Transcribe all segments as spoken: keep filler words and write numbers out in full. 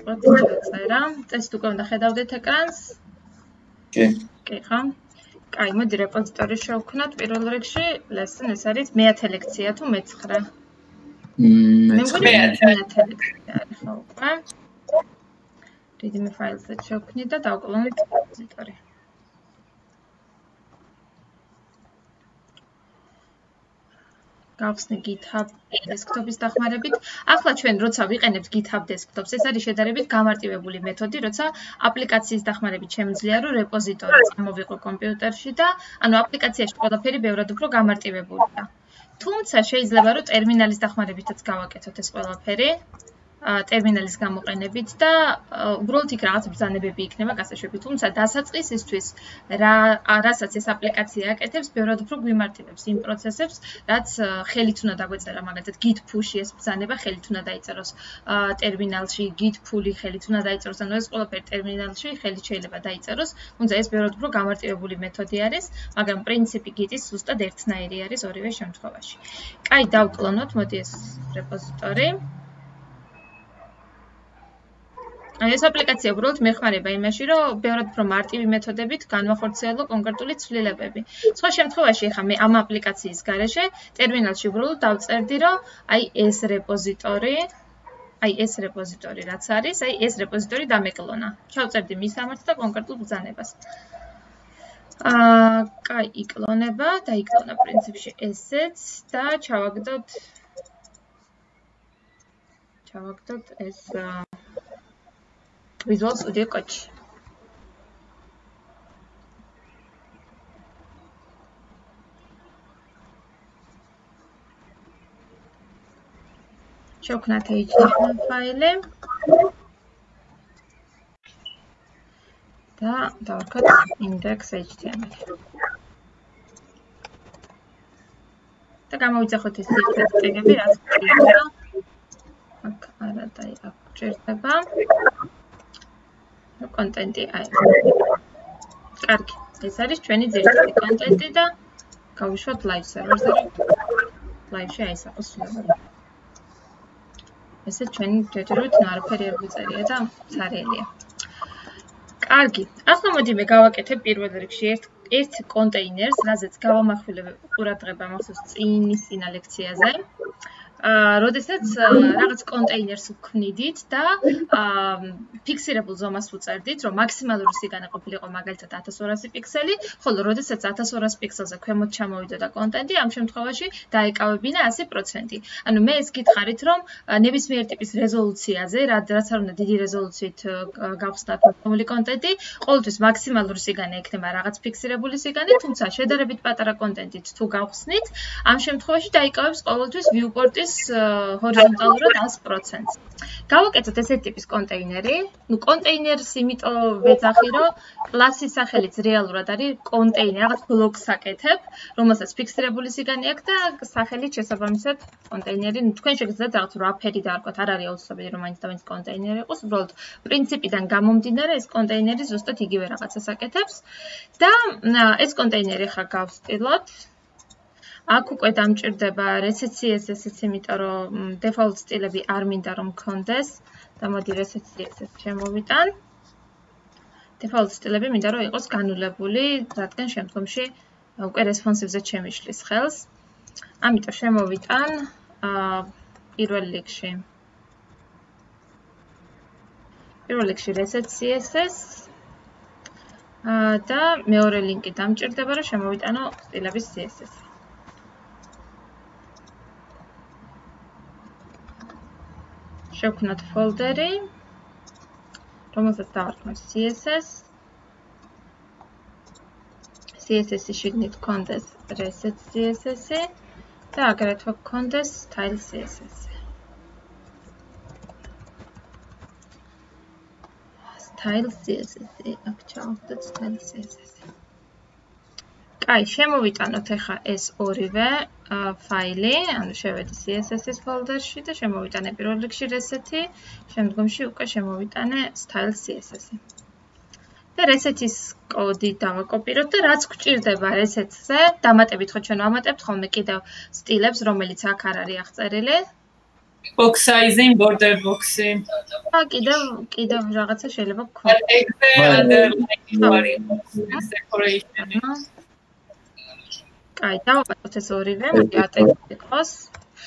დავიწყოთ წერა. წესით უკვე უნდა ხედავდეთ ეკრანს? კი. კი, ხო? კაი, მოდი რეპოზიტორი შევქმნათ. პირველ რიგში lesson ეს არის მეათე ლექცია თუ მეცხრე? მმ, მეათე ლექცია არის, ხო, უკვე. readme file-ზე შევქმნით და დავკლონოთ რეპოზიტორი. გავხსნი GitHub desktop-ის დახმარებით. ახლა ჩვენ როცა ვიყენებთ GitHub desktop-ს, ეს არის შედარებით გამარტივებული მეთოდი, როცა აპლიკაციის დახმარებით შემიძლია რომ რეპოზიტორი წამოვიყო კომპიუტერში და ანუ აპლიკაციაში ყველაფერი ბევრად უფრო გამარტივებულია. თუმცა შეიძლება რომ ტერმინალის დახმარებითაც გავაკეთოთ ეს ყველაფერი. ტერმინალის გამოყენებით და უბრალოდ იქ რაღაც ბრძანებები იქნება გასაშვები. თუმცა დასაწყისისთვის რა რასაც ეს აპლიკაცია აკეთებს, ბევრად უფრო გვიმარტივებს იმ პროცესებს, რაც ხელით უნდა დაგვეწერა, მაგალითად git push-ი ეს ბრძანება ხელით უნდა დაიწეროს ტერმინალში, git pull-ი ხელით უნდა დაიწეროს, ანუ ეს ყველაფერი ტერმინალში ხელით შეიძლება დაიწეროს. თუმცა ეს ბევრად უფრო გამარტივებული მეთოდი არის, მაგრამ პრინციპი git-ის ზუსტად ერთნაირი არის ორივე შემთხვევაში. კაი, დავკლონოთ, მოდი ეს რეპოზიტორი. ეს აპლიკაცია უბრალოდ მეხმარება იმაში, რომ ბევრად უფრო მარტივი მეთოდებით განვახორციელო კონკრეტული ცვლილებები. სხვა შემთხვევაში ხა მე ამ აპლიკაციის გარეშე ტერმინალში უბრალოდ დავწერდი, რომ აი ეს რეპოზიტორი, აი ეს რეპოზიტორი რაც არის, აი ეს რეპოზიტორი დამეკლონა. ჩავწერდი მის ამართ და კონკრეტულ ბრძანებას. აა, კაი, იკლონება, დაიკლონა პრინციპში ესეც და ჩავაგდოთ ჩავაგდოთ ეს Visual Studio Code. შევქმნათ H T M L ფაილი და დავარქოთ index.html. და გამოვიძახოთ ეს ტეგები, რაც გვჭირდება. აქ არა და აქ გვჭირდება. კონტენტი აი. კარგი, ეს არის ჩვენი ძირითადი კონტენტი და გავუშვათ live server-ზე. live-ში აისახოს სულები. ესე ჩვენი ჯერჯერობით ნარფერი არ გვიწერია და ცარიელია. კარგი, ახლა მოდი მე გავაკეთებ პირველ რიგში ერთ ერთ კონტეინერს, რაზეც გავამახვილებ ყურადღება მახსოვს წინის წინა ლექციაზე. აა, როდესაც რაღაც კონტეინერს ვქმნიდით და აა ფიქსირებულ ზომას ვუწერდით, რომ მაქსიმალური სიგანა ყოფილიყო მაგალითად ათას ორასი პიქსელი, ხოლო როდესაც ათას ორასი პიქსელზე ქვემოთ ჩამოვიდოდა კონტენტი, ამ შემთხვევაში დაეკავებინა ასი პროცენტი. ანუ მე ეს გითხარით, რომ ნებისმიერ ტიპის რეზოლუციაზე, რაც არ უნდა დიდი რეზოლუციით გავხსნათ მოცემული კონტენტი, ყოველთვის მაქსიმალური სიგანა ექნება რაღაც ფიქსირებული სიგანი, თუმცა შედარებით პატარა კონტენტით თუ გავხსნით, ამ შემთხვევაში დაიკავებს ყოველთვის viewport-ის ჰორიზონტალურად ასი პროცენტს. გავაკეთოთ ესეთი ტიპის კონტეინერი. ნუ კონტეინერს იმიტომ ვეძახი, რომ კლასის სახელიც რეალურად არის კონტეინერი, რაღაც ბლოკს აკეთებ, რომელსაც ფიქსირებული სიგანი აქვს და სახელით შესაბამისად კონტეინერი, ნუ თქვენ შეგიძლიათ რაღაც wrapper-ი დაარქვათ, არ არის აუცილებელი რომ მაინც და მაინც კონტეინერი იყოს, უბრალოდ პრინციპიდან გამომდინარე ეს კონტეინერი ზუსტად იგივე რაღაცას აკეთებს და ეს კონტეინერი ხა გავსტილოთ. აქ უკვე დამჭირდება reset C S S-იც, იმიტომ რომ default სტილები არ მინდა რომ მქონდეს და მოდი reset C S S შემოვიტან. default სტილები მინდა რომ იყოს განულებული, რადგან შემდგომში უკვე responsive-ზე შემიშლის ხელს. ამიტომ შემოვიტან აა პირველ რიგში. პირველ რიგში reset C S S და მეორე ლინკი დამჭირდება რომ შემოვიტანო სტილების C S S. შევქმნათ ფოლდერი, რომელსაც დავარქმევ C S S. C S S-ი შიგნით გქონდეს reset C S S-ი და აგრეთვე გქონდეს style C S S-ი. style C S S-ი, აქ ჩავხდეთ style C S S-ი. კაი, შემოვიტანოთ ახლა ეს ორივე ფაილი, ანუ შევედი C S S-ის ფოლდერში და შემოვიტანე პირველ რიგში reset-ი, შემდგომში უკვე შემოვიტანე style C S S-ი. და reset-ის კოდი დავაკოპიროთ და რაც გვჭირდება reset-ზე, დამატებით ხო ჩვენ ვამატებთ ხოლმე კიდევ სტილებს, რომელიც აქ არ არის აღწერილი. box sizing, border box-ი. და კიდევ კიდევ რაღაცა შეიძლება გქონდეს. decoration-ი. აი, დავაპატოთ ეს ორივე, მოდი ატექსტი იყოს.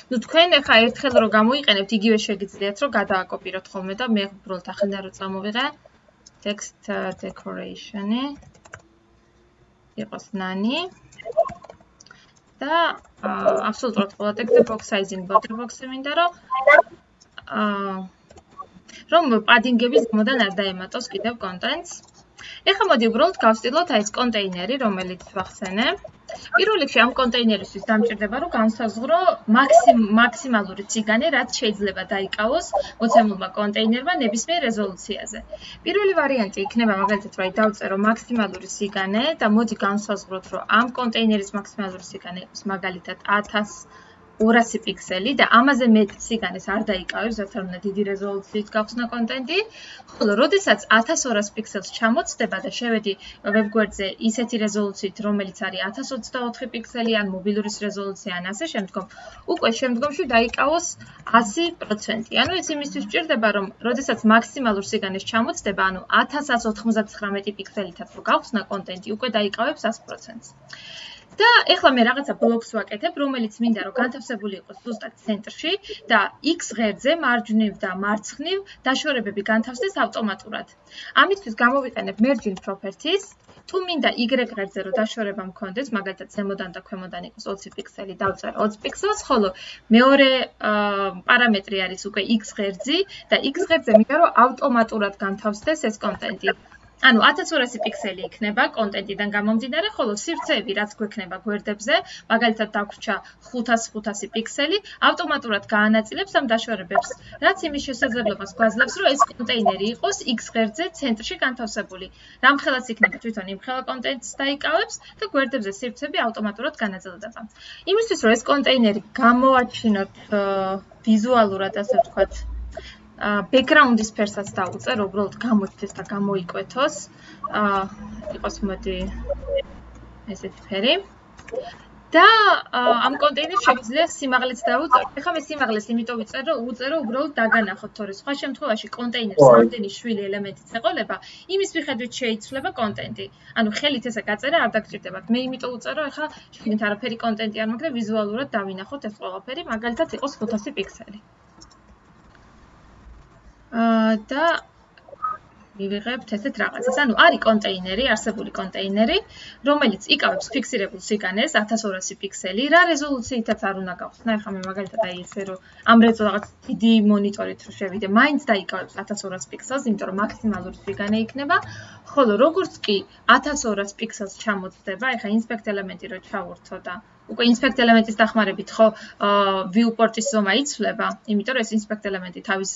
ნუ თქვენ ახლა ერთხელ რო გამოიყენებთ, იგივე შეგიძლიათ რომ გადააკოპიროთ ხოლმე და მე უბრალოდ ახლა რო წამოვიღე text decoration-ი. იყოს ნანი. და აბსოლუტურად ყველა ტექსტზე box sizing, border box-ი მინდა რომ აა რომ padding-ების გამოდან არ დაემატოს კიდევ კონტენტს. ეხლა მოდი უბრალოდ გავსტილოთ აი ეს კონტეინერი, რომელიც ვახსენე. პირველ რიგში ამ კონტეინერისთვის დამჭირდება რომ განსაზღვრო მაქსიმალური ციგანი, რაც შეიძლება დაიკავოს მოცემულმა კონტეინერმა ნებისმიერ რეზოლუციაზე. პირველი ვარიანტი იქნება მაგალითად რომ აი დავწერო მაქსიმალური სიგანე და მოდი განსაზღვროთ რომ ამ კონტეინერის მაქსიმალური სიგანე იყოს მაგალითად ათას ორასი პიქსელი და ამაზე მეტ სიგანეს არ დაიკავებს, რაც არ უნდა დიდი რეზოლუციით გავხსნა კონტენტი. ხოლო როდესაც ათას ორასი პიქსელს ჩამოცდება და შევედი ვებგვერდზე ისეთი რეზოლუციით, რომელიც არის ათას ოცდაოთხი პიქსელი ან მობილურის რეზოლუცია ან ასე შემდგომ, უკვე შემდგომში დაიკავოს ასი პროცენტი. ანუ ეს იმისთვის სჭირდება, რომ როდესაც მაქსიმალურ სიგანეს ჩამოცდება, ანუ ათას ათს ოცდათხმეტი პიქსელითაც რო გავხსნა კონტენტი, უკვე დაიკავებს ას პროცენტს. და ეხლა მე რაღაცა ბლოკს ვაკეთებ, რომელიც მინდა რომ განთავსებული იყოს ზუსტად ცენტრში და X ღერძზე მარჯვნივ და მარცხნივ დაშორებები განთავსდეს ავტომატურად. ამისთვის გამოვიყენებ merging properties. თუ მინდა Y ღერძზე რომ დაშორება მქონდეს, მაგალითად ზემოდან და ქვემოდან იყოს ოცი პიქსელი, დავწერე ოცი პიქსელს, ხოლო მეორე პარამეტრი არის უკვე X ღერძი და X ღერძზე მინდა რომ ავტომატურად განთავსდეს ეს კონტენტი. ანუ ათას ორასი პიქსელი იქნება კონტენტიდან გამომდინარე, ხოლო სივრცეები რაც გვექნება გვერდებზე, მაგალითად დაგვრჩა ხუთას ხუთასი პიქსელი, ავტომატურად გაანაწილებს ამ დაშორებებს, რაც იმის შესაძლებლობას გვაძლევს, რომ ეს კონტეინერი იყოს X ღერძზე ცენტრში განთავსებული. რამხელაც იქნება თვითონ იმხელა კონტენტს დაიკავებს და გვერდებზე სივრცეები ავტომატურად განაწილდება. იმისთვის რომ ეს კონტეინერი გამოაჩინოთ ვიზუალურად, ასე ვთქვათ, background-ის ფერსაც დავუწერ, უბრალოდ გამოჩნდეს და გამოიკვეთოს. აა იყოს მოდი ესეთი ფერი. და ამ კონტეინერს შეგვიძლია სიმაღლეც დავუწერ. ეხლა მე სიმაღლეს იმიტომ ვიწერ, რომ უწერო უბრალოდ დაგანახოთ, თორე სხვა შემთხვევაში კონტეინერს რამდენი შვილი ელემენტიც ეყოლება, იმის მიხედვით შეიცვლება კონტენტი. ანუ ხელით ესე გაწერა არ დაგჭირდებათ. მე იმიტომ უწერ, რომ ეხლა შეგნით არაფერი კონტენტი არ მაქვს და ვიზუალურად დავინახოთ ეს ყველაფერი, მაგალითად იყოს ხუთასი პიქსელი. და მივიღებთ ესეთ რაღაცას. ანუ არის კონტეინერი, არსებული კონტეინერი, რომელიც იკავებს ფიქსირებულ სიგანეს ათას ორასი პიქსელი, რა რეზოლუციითაც არ უნდა გავხსნა. ეხლა მე მაგალითად აი ესე რომ ამ რაღაც დიდი მონიტორით რო შევიდე, მაინც დაიკავებს ათას ორასი პიქსელს, იმიტომ რომ მაქსიმალური სიგანე იქნება. ხოლო როგორც კი ათას ორასი პიქსელს ჩამოცდება, ეხლა inspect ელემენტი რო ჩავურთო და უკვე inspect ელემენტის დახმარებით ხო viewport-ის ზომა იცვლება, იმიტომ რომ ეს inspect ელემენტი თავის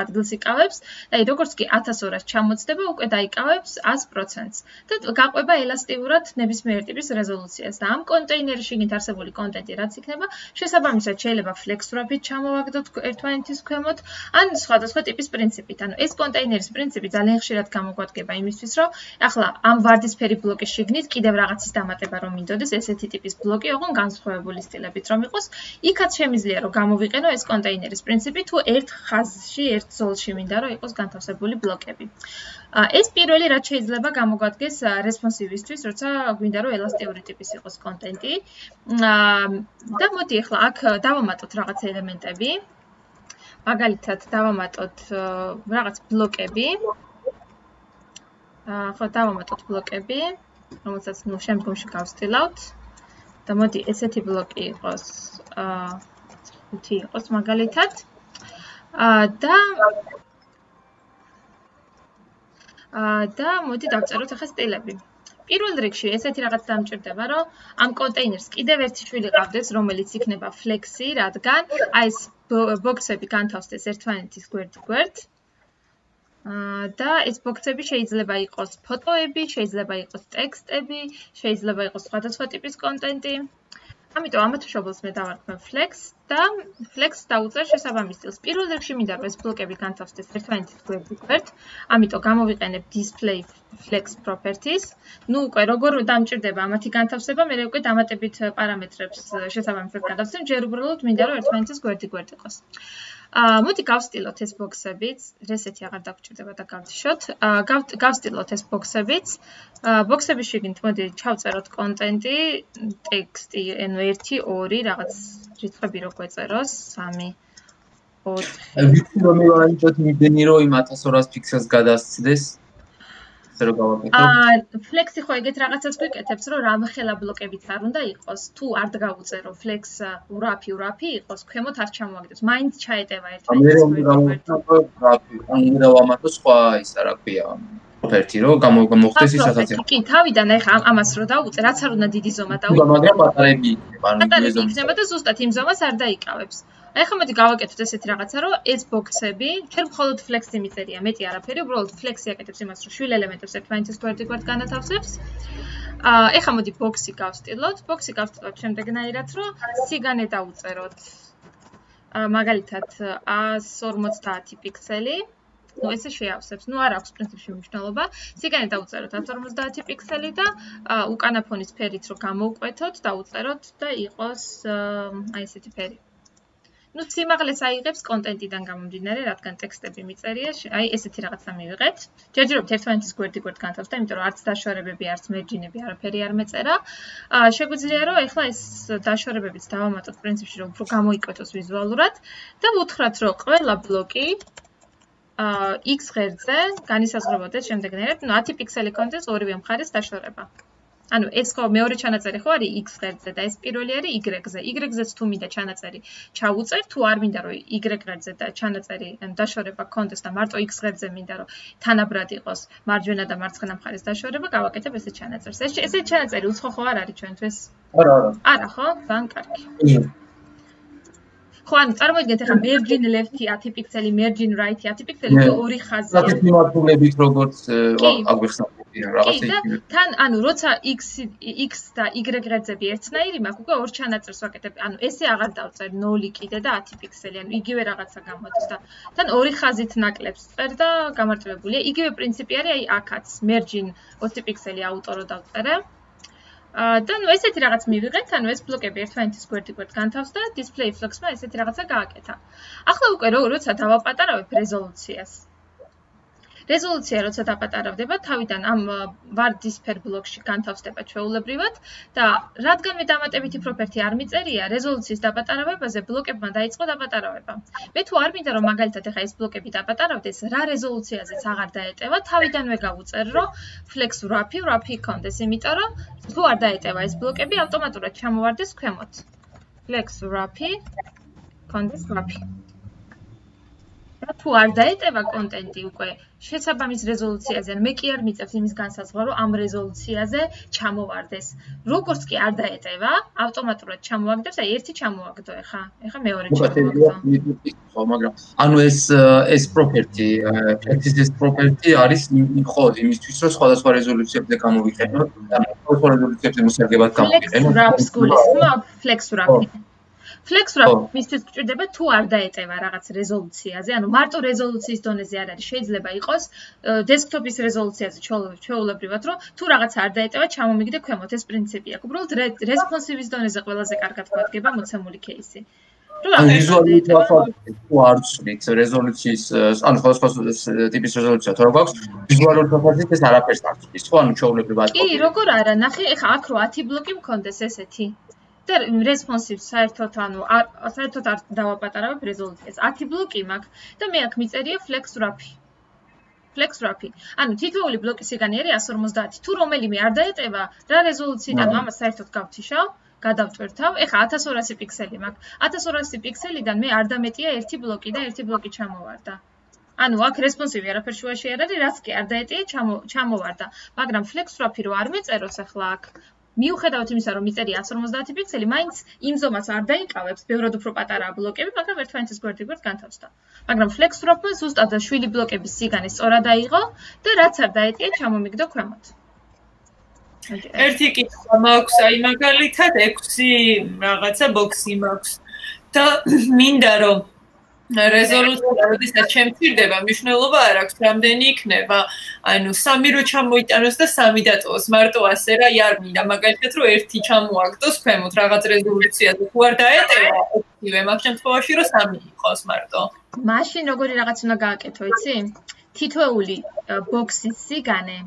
ადგილს იკავებს და აი როგორც კი ათას ორასი ჩამოცდება, უკვე დაიკავებს ას პროცენტს და გაყვება ელასტიურად ნებისმიერ ტიპის რეზოლუციას და ამ კონტეინერის შიგნით არსებული კონტენტი რაც იქნება, შესაბამისად შეიძლება flex-ვრაფით ჩამოვაგდოთ ერთმანეთის ქვემოთ, ან სხვადასხვა ტიპის პრინციპით. ანუ ეს კონტეინერის პრინციპი ძალიან ხშირად გამოგვადგება იმისთვის, რომ ახლა ამ ვარდისფერი ბლოკის შიგნით კიდევ რაღაცის დამატება რომ მინდოდეს, ესეთი ტიპის ბლოკი ოღონ განსხვავებული სტილებით რომ იყოს, იქაც შემიძლია რომ გამოვიყენო ეს კონტეინერის პრინციპი, თუ ერთ ხაზში, ერთ ზოლში მინდა რომ იყოს განთავსებული ბლოკები. ეს პირველი რაც შეიძლება გამოგვადგეს responsive-ისთვის, როცა გვინდა რომ ელასტიური ტიპის იყოს კონტენტი. და მოდი ახლა აქ დავამატოთ რაღაც ელემენტები. მაგალითად დავამატოთ რაღაც ბლოკები. ხო დავამატოთ ბლოკები, რომელსაც ნუ შემდგომში გავსტილავთ. და მოდი ესეთი ბლოკი იყოს, აა ხუთი იყოს მაგალითად. აა და აა და მოდი დავწეროთ ახლა სტილები. პირველ რიგში ესეთი რაღაც დამჭირდება, რომ ამ კონტეინერს კიდევ ერთი შვილი ყავდეს, რომელიც იქნება flex-ი, რადგან აი ეს ბოქსები განთავსდეს ერთმანეთის გვერდ-გვერდ. და ეს ბოქსები შეიძლება იყოს ფოტოები, შეიძლება იყოს ტექსტები, შეიძლება იყოს სხვადასხვა ტიპის კონტენტი. ამიტომ ამათ მშობელს მე დავარქმევ flex და flex დაუწერ შესაბამის სტილს. პირველ რიგში მინდა რომ ეს ბლოკები განთავსდეს ერთმანეთის გვერდ-გვერდ, ამიტომ გამოვიყენებ display flex properties. ნუ უკვე როგორ დამჭირდება ამათი განთავსება, მე უკვე დამატებით პარამეტრებს შესაბამისად გადავცემ, ჯერ უბრალოდ მინდა რომ ერთმანეთის გვერდი-გვერდ იყოს. აა მოდი გავსტილოთ ეს ბოქსებიც, რესეთი აღარ დაგჭირდება და გავთიშოთ. აა გავსტილოთ ეს ბოქსებიც. აა ბოქსების შიგნით მოდი ჩავწეროთ კონტენტი, ტექსტი, ანუ ერთი, ორი, რაღაც რიცხვები რო გვეწეროს, სამი, ოთხი. ვიცი რომ მივაერთოთ იმდენი რომ იმ ათას ორას ფიქსელს გადასცდეს. ასე რომ გავაკეთო. აა ფლექსი ხო ეგეთ რაღაცას გვიკეთებს, რომ რამხელა ბლოკებიც არ უნდა იყოს, თუ არ დაგაუწერო ფლექს ურაფი ურაფი იყოს, ქვემოთ არ ჩამოაგდებს. მაინც ჩაეტევა ერთმანეთს. მე რომ გავაკეთო ურაფი, ან უნდა ვამატო სხვა ისა რა ქვია. პროფერტი რომ გამოხდეს ის ასაცი. კი, თავიდან ეხა ამას რო დაუწე, რაც არ უნდა დიდი ზომა დაუწე. მაგრამ პატარები იქნება, ანუ პატარები იქნება და ზუსტად იმ ზომას არ დაიკავებს. აი ხა მოდი გავაკეთოთ ესეთი რაღაცა, რომ ეს ბოქსები, ჩვენ მხოლოდ ფლექსი მიწერია, მეტი არაფერი, უბრალოდ ფლექსი აკეთებს იმას, რომ შვილ ელემენტებს ერთმანეთის გვერდ-გვერდ განათავსებს. აა ეხა მოდი ბოქსი გავსტილოთ, ბოქსი გავსტილოთ შემდეგნაირად, რომ სიგანე დავუწეროთ. აა მაგალითად ას ორმოცდაათი პიქსელი. ნუ ესე შეავსებს. ნუ არ აქვს პრინციპში მნიშვნელობა. სიგანე დავუწეროთ ას ორმოცდაათი პიქსელი და უკანა ფონის ფერით რო გამოვკვეთოთ, დავუწეროთ და იყოს აი ესეთი ფერი. ნუ სიმაღლეს აიღებს კონტენტიდან გამომდინარე, რადგან ტექსტები მიწერია, აი ესეთი რაღაცა მივიღეთ. ჯერჯერობით ერთმანეთის გვერდ-გვერდ განთავსდა, იმიტომ რომ არც დაშორებები, არც მერჯინები არაფერი არ მეწერა. აა შეგვიძლია რომ ეხლა ეს დაშორებებიც დავამატოთ პრინციპში, რომ უფრო გამოიკვეთოს ვიზუალურად და ვუთხრათ, რომ ყველა ბლოკი აა X ღერძზე განისაზღვრებოდეს შემდეგნაირად, ნუ ათი პიქსელი კონტენტს ორივე მხარეს დაშორება. ანუ ეს ხო მეორე ჩანაწერი ხო არის X ღერძზე და ეს პირველი არის Y-ზე. Y-ზეც თუ მინდა ჩანაწერი ჩაუწერ, თუ არ მინდა რომ Y ღერძზე და ჩანაწერი დაშორება კონდეს და მარტო X ღერძზე მინდა რომ თანაბრად იყოს მარჯვენა და მარცხენა მხარეს დაშორება, გავაკეთებ ესეთ ჩანაწერს. ეს ესეთ ჩანაწერი უცხო ხო არ არის ჩვენთვის? არა, არა. არა ხო? ძალიან კარგი. ხო, ანუ წარმოიდგინეთ ახლა mergin left-ი ათი პიქსელი, mergin right-ი ათი პიქსელი და ორი ხაზია. საკეთ მიმართულებით როგორც აგვიხსნათ რაღაცა იქნება. თან ანუ როცა X X და Y ღერძები ერთნაირი მაქვს, უკვე ორ ჩანაწერს ვაკეთებ. ანუ ესე აღარ დავწერ ნული კიდე და ათი პიქსელი, ანუ იგივე რაღაცა გამოდის და თან ორი ხაზით ნაკლებს წერ და გამარტივებულია. იგივე პრინციპი არის აი აქაც mergin ოცი პიქსელი აუტორო დავწერე. და ნუ ესეთი რაღაც მივიღეთ, ანუ ეს ბლოკები ერთმანეთის გვერდ-გვერდ განთავსდა, display flex-მა ესეთი რაღაცა გააკეთა. ახლა უკვე როცა დავაპატარავებ რეზოლუციას. რეზოლუცია როცა დაპატარავდება, თავიდან ამ ვარდისფერ ბლოკში განთავსდება ჩვეულებრივად და რადგან მე დამატებითი პროფერტი არ მიწერია, რეზოლუციის დაპატარავებაზე ბლოკებმა დაიწყო დაპატარავება. მე თუ არ მინდა რომ მაგალითად ახლა ეს ბლოკები დაპატარავდეს, რა რეზოლუციაზეც აღარ დაეტევა, თავიდანვე გავუწერ, რომ flex wrap-ი wrap-ი იქონდეს, იმიტომ რომ თუ არ დაეტევა ეს ბლოკები, ავტომატურად ჩამოვარდეს ქვემოთ. flex wrap-ი იქონდეს wrap-ი. თუ არ დაეტევა კონტენტი უკვე შესაბამის რეზოლუციაზე, ან მე კი არ მიწევს იმის განსაზღვრა, რომ ამ რეზოლუციაზე ჩამოვარდეს. როგორც კი არ დაეტევა, ავტომატურად ჩამოაგდებს, აი ერთი ჩამოაგდო ეხა, ეხა მეორე ჩამოაგდო. ხო, მაგრამ ანუ ეს ეს პროფერტი, ეს პროფერტი არის ხო იმისთვის, რომ სხვადასხვა რეზოლუციებზე გამოვიყენოთ, ანუ სხვადასხვა რეზოლუციებზე მოსარგებლად გამოვიყენოთ. flex wrap-ს გულისხმობ, flex wrap-ი. flex wrap მისთვის გჭირდება თუ არ დაეტევა რაღაც რეზოლუციაზე, ანუ მარტო რეზოლუციის დონეზე არ არის, შეიძლება იყოს დესკტოპის რეზოლუციაზე ჩვეულებრივად, რომ თუ რაღაც არ დაეტევა, ჩამომიგდე ქვემოთ, ეს პრინციპი აქვს. უბრალოდ რესპონსივის დონეზე ყველაზე კარგად გვადგება მოცემული кейსი. ანუ ვიზუალური თვალსაზრისით თუ არ ვცვლით რეზოლუციის, ანუ სხვადასხვა ტიპის რეზოლუცია თუ რა გვაქვს, ვიზუალური თვალსაზრისით ეს არაფერს არ ვცვლის, ხო, ანუ ჩვეულებრივად. კი, როგორ არა, ნახე, ეხა აქ რო ათი ბლოკი მქონდეს ესეთი. და responsive საერთოდ ანუ საერთოდ არ დავაპატარავებ რეზოლუციას. ათი ბლოკი მაქვს და მე აქ მიწერია flex wrap-ი. flex wrap-ი. ანუ თითოეული ბლოკის სიგანე არის ას ორმოცდაათი. თუ რომელიმე არ დაეტევა, რა რეზოლუციიდან ამას საერთოდ გავთიშავ, გადავტვირთავ. ეხა ათას ორასი პიქსელი მაქვს. ათას ორასი პიქსელიდან მე არ დამეტია ერთი ბლოკი და ერთი ბლოკი ჩამოვარდა. ანუ აქ responsive არაფერ შუაში არ არის, რაც კი არ დაეტია, ჩამოვარდა. მაგრამ flex wrap-ი რო არ მეწეროს ახლა აქ მიუხედავად იმისა, რომ მიწერია ას ორმოცდაათი პიქსელი, მაინც იმ ზომას არ დაიკავებს, ბევრად უფრო პატარაა ბლოკები, მაგრამ ერთმანეთის გვერდ-გვერდ განთავსდა. მაგრამ flex wrap-მა ზუსტად შვილი ბლოკების სიგანე სწორად აიღო და რაც არ დაეტია, ჩამომიგდო ქვემოთ. ერთი კითხვა მაქვს, აი მაგალითად ექვსი რაღაცა ბოქსი მაქვს და მინდა რომ რეზოლუცია როდესაც შემცირდება, მნიშვნელობა არ აქვს, რამდენი იქნება. ანუ სამი რო ჩამოიტანოს და სამი დატოვოს, მარტო ასე რა, არ მინდა მაგალითად რომ ერთი ჩამოაგდოს ქვემოთ რაღაც რეზოლუციაზე. თუ არ დაეტევა, ერთივე, მაგ შემთხვევაში რომ სამი იყოს მარტო. მაშინ როგორი რაღაც უნდა გააკეთო, იცი? თითოეული ბოქსის სიგანე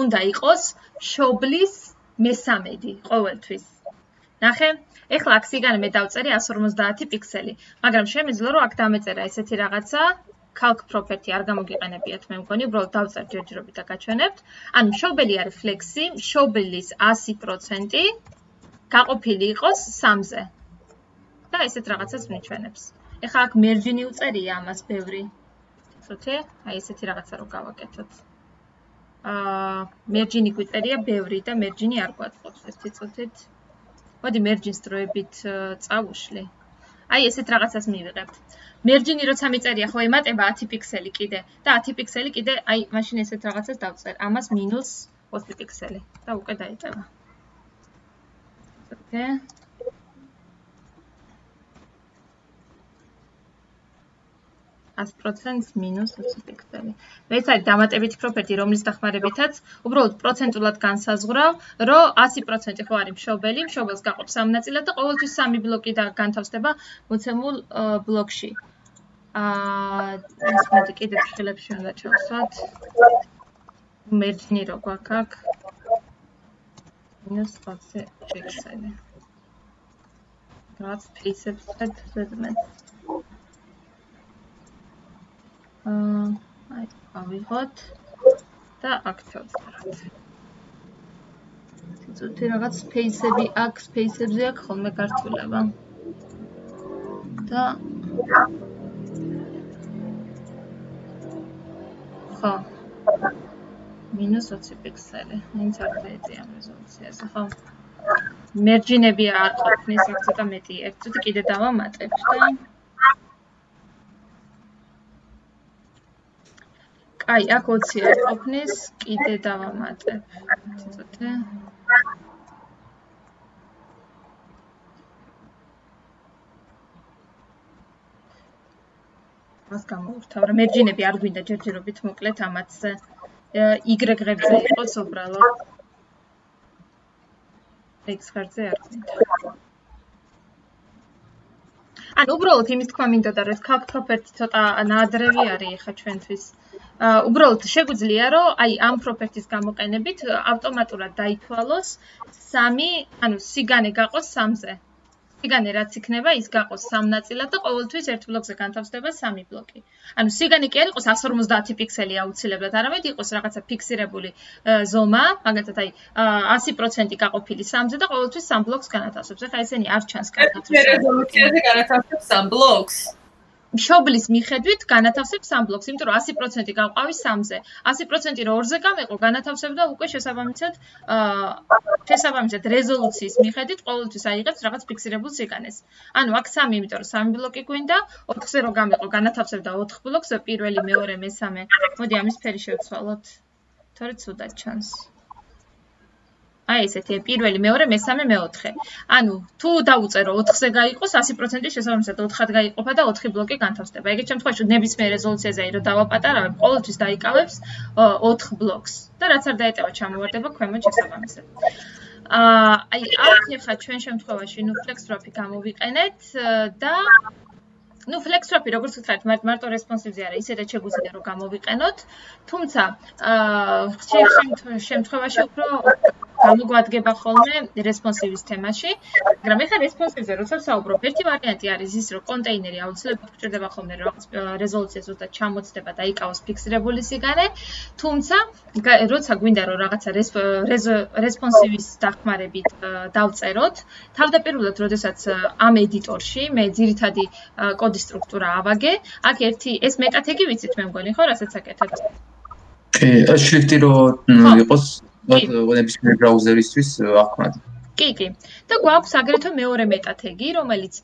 უნდა იყოს შობლის მესამედი ყოველთვის. ნახე? ეხლა აქ სიგანე მე დავწერე one fifty პიქსელი, მაგრამ შემიძლია რომ აქ დამეწერა ესეთი რაღაცა calc property არ გამოგიყენებიათ მე მგონი, უბრალოდ დავწერ ჯერჯერობით და გაჩვენებთ. ანუ მშობელი არის ფლექსი, მშობელის one hundred percent გაყოფილი იყოს სამზე. და ესეთ რაღაცას ვიჩვენებს. ეხლა აქ merge-ი უწერია ამას ბევრი. ცოტა, აი ესეთი რაღაცა რო გავაკეთოთ. აა merge-ი გვიწერია ბევრი და merge-ი არ გვაწყობს ერთი წუთით. მოდი merge-ის დროებით წავუშლი. აი ესეთ რაღაცას მივიღებთ. merge-ი როცა მიწერია ხო ემატება ten პიქსელი კიდე და ten პიქსელი კიდე აი მაშინ ესეთ რაღაცას დავწერ. ამას minus twenty პიქსელი და უკვე დაიწყება. ცოტა one hundred percent minus twenty პიქსელი. ეს არის დამატებითი პროპერტი, რომლის დახმარებითაც უბრალოდ პროცენტულად განსაზღვრავ, რომ one hundred percent ხო არის მშობელი, მშობელს გაყოფს სამ ნაწილად და ყოველთვის სამი ბლოკი და განთავსდება მოცემულ ბლოკში. აა ეს მოდი კიდევ ხილებში უნდა ჩავსვათ. merge-ი რო გვაქვს აქ minus twenty პიქსელი. რაც space-ებს ზედმეტ. აა აი ავიღოთ და აქ ჩავწეროთ. ცოტა რაღაც space-ები აქ, space-ებზე აქ ხოლმე გართულება. და ხო. minus twenty პიქსელი. მაინც არ დაეწია ამ რეზოლუციაზე, ხო? merge-ინები არ ყოფნის, აქ ცოტა მეტი. ერთ წუთი კიდე დავამატებ და აი, აქ twenty არ ყოფნის, კიდე დავამატებ. ცოტა. მას გამოვთავ, რომ merge-ინები არ გვინდა ჯერჯერობით მოკლედ ამათზე. Y-ღებზე იყოს უბრალოდ. X-ღებზე არ გვინდა. ანუ უბრალოდ იმის თქვა მინდოდა, რომ calc property ცოტა ნაადრევი არის ხა ჩვენთვის. უბრალოდ შეგვიძლია რომ აი ამ პროპერტის გამოყენებით ავტომატურად დაითვალოს სამი, ანუ სიგანე გაყოს სამზე. სიგანე რაც იქნება, ის გაყოს სამ ნაწილად და ყოველთვის ერთ ბლოკზე განთავსდება სამი ბლოკი. ანუ სიგანე კი არ იყოს one forty პიქსელი აუცილებლად, არამედ იყოს რაღაცა ფიქსირებული ზომა, მაგალითად აი one hundred percent გაყოფილი სამზე და ყოველთვის სამ ბლოკს განათავსებს. ეხლა ესენი არ ჩანს კარგად. რეზოლუციაზე განათავსებს სამ ბლოკს. მშობლის მიხედვით განათავსებს სამ ბლოკს, იმიტომ რომ one hundred percent გავყავი სამზე. one hundred percent რო ორზე გამეყო, განათავსებდა უკვე შესაბამისად აა შესაბამისად რეზოლუციის მიხედვით ყოველთვის აიღებს რაღაც ფიქსირებულ სიგანეს. ანუ აქ სამი, იმიტომ რომ სამი ბლოკი გვინდა, ოთხზე რო გამეყო, განათავსებდა ოთხ ბლოკს, პირველი, მეორე, მესამე. მოდი ამის ფერი შევცვალოთ. თორე ცუდად ჩანს. აი ესეთი პირველი, მეორე, მესამე, მეოთხე. ანუ თუ დავუწერო ოთხზე გაიყოს one hundred percent შესაბამისად ოთხად გაიყოფა და ოთხი ბლოკი განთავსდება. ეგეთ შემთხვევაში ნებისმიერ რეზოლუციაზე აი რომ დავაპატარავებ, ყოველთვის დაიკავებს ოთხ ბლოკს და რაც არ დაეტევა ჩამოვარდება ქვემოთ შესაბამისად. აა აი აქ ხა ჩვენ შემთხვევაში ნუ flex-swap-ი გამოვიყენეთ და ну flex-swap-ი როგორც ვთქვათ, მარტო responsive-ზე არა, ისედაც შეგვიძლია რომ გამოვიყენოთ, თუმცა აა ხშირ შემთხვევაში უფრო გამოგვადგება ხოლმე responsive-ის თემაში, მაგრამ ეხლა responsive-ზე როცა ვსაუბრობ, ერთი ვარიანტი არის ის, რომ კონტეინერი აუცილებლად გვჭირდება ხოლმე რომ რაღაც რეზოლუცია ზუსტად ჩამოწდება და იკავოს ფიქსირებული სიგანე, თუმცა როცა გვინდა რომ რაღაცა responsive-ის დახმარებით დავწეროთ, თავდაპირველად როდესაც ამ ედიტორში მე ძირითადი კოდის სტრუქტურა ავაგე, აქ ერთი ეს მეტათეგი ვიცით მე მგონი, ხო, რასაც აკეთებთ? კი, ეს შრიფტი რო იყოს ნებისმიერ ბრაუზერისთვის ახმად. კი, კი. და გვაქვს აგრეთვე მეორე მეტათეგი, რომელიც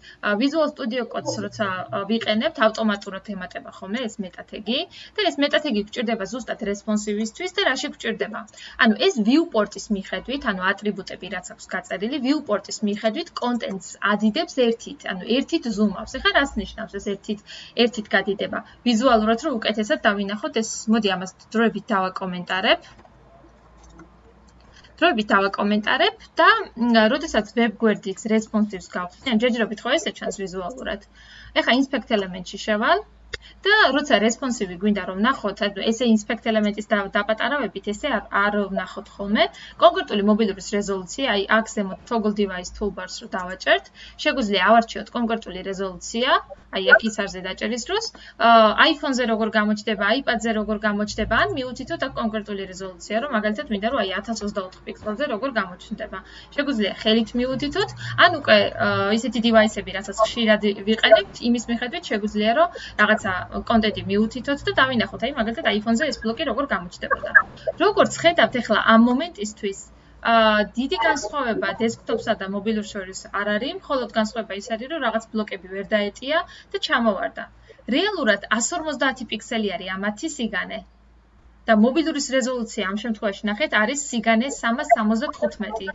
Visual Studio Code-ს როცა ვიყენებთ, ავტომატურად ემატება ხოლმე ეს მეტათეგი და ეს მეტათეგი გვჭირდება ზუსტად responsive-ისთვის და რაში გვჭირდება? ანუ ეს viewport-ის მიხედვით, ანუ ატრიბუტები რაც აქვს გაწერილი, viewport-ის მიხედვით contents ადიდებს ერთით, ანუ ერთით zoom-ავს. ეხლა რას ნიშნავს ეს ერთით, ერთით გადიდება? ვიზუალურად რომ უკეთესად დავინახოთ, ეს მოდი ამას დროებით დავაკომენტარებ. დროებით დავაკომენტარებ და როდესაც web გვერდის responsive-ს გავხსნი, ან ჯერჯერობით ხო ესე ჩანს ვიზუალურად. ეხლა inspect element-ში შევალ და როცა responsive გვინდა რომ ნახოთ, ესე inspect element-ის დაპატარავებით ესე არ ვნახოთ ხოლმე. კონკრეტული მობილურის რეზოლუცია, აი აქ ზემოთ toggle device toolbars-ს რო დავაჭერთ, შეგვიძლია ავარჩიოთ კონკრეტული რეზოლუცია, აი აქ ისარზე დაჭერის დროს, iPhone-ზე როგორ გამოჩნდება, iPad-ზე როგორ გამოჩნდება, ან მიუთითოთ აქ კონკრეტული რეზოლუცია, რომ მაგალითად მინდა რომ აი ათას ოცდაოთხ პიქსელზე როგორ გამოჩნდება. შეგვიძლია ხელით მიუთითოთ, ან უკვე ისეთი device-ები, რასაც ხშირად ვიყენებთ, იმის მიხედვით შეგვიძლია რომ რაღაცა კონტენტი მიუთითოთ და დავინახოთ, აი მაგალითად iPhone-ზე ეს ბლოკი როგორ გამოჩნდებოდა. როგორც ხედავთ, ახლა ამ მომენტისთვის აა დიდი განსხვავება დესკტოპსა და მობილურს შორის არ არის, მხოლოდ განსხვავება ის არის, რომ რაღაც ბლოკები ვერ დაეტია და ჩამოვარდა. რეალურად εκατს ორმოცდაათი პიქსელი არის ამათი სიგანე. და მობილურის რეზოლუცია ამ შემთხვევაში ნახეთ არის სიგანე სამას სამოცდათხუთმეტი.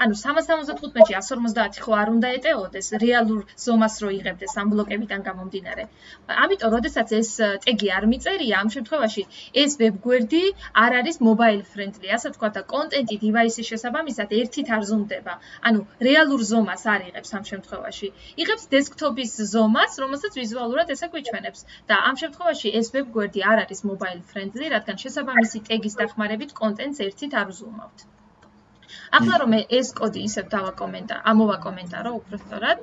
ანუ სამას სამოცდათხუთმეტში εκατს ორმოცდაათი ხო არ უნდა ეტეოდეს რეალურ ზომას რო იღებდეს ამ ბლოკებიდან გამომდინარე. ამიტომ, როდესაც ეს ტეგი არ მიწერია, ამ შემთხვევაში ეს web გვერდი არ არის mobile friendly, ასე თქვა და კონტენტი device-ის შესაბამისად ერთით არ ზომდება. ანუ რეალურ ზომას არ იღებს ამ შემთხვევაში. იღებს desktop-ის ზომას, რომელსაც ვიზუალურად ესე გვიჩვენებს. და ამ შემთხვევაში ეს web გვერდი არ არის mobile friendly, რადგან შესაბამისი ტეგის დახმარებით კონტენტს ერთით არ ვზუმავთ. ახლა რომ მე ეს კოდი ისევ დავაკომენტარო, ამოვაკომენტარო უფრო სწორად.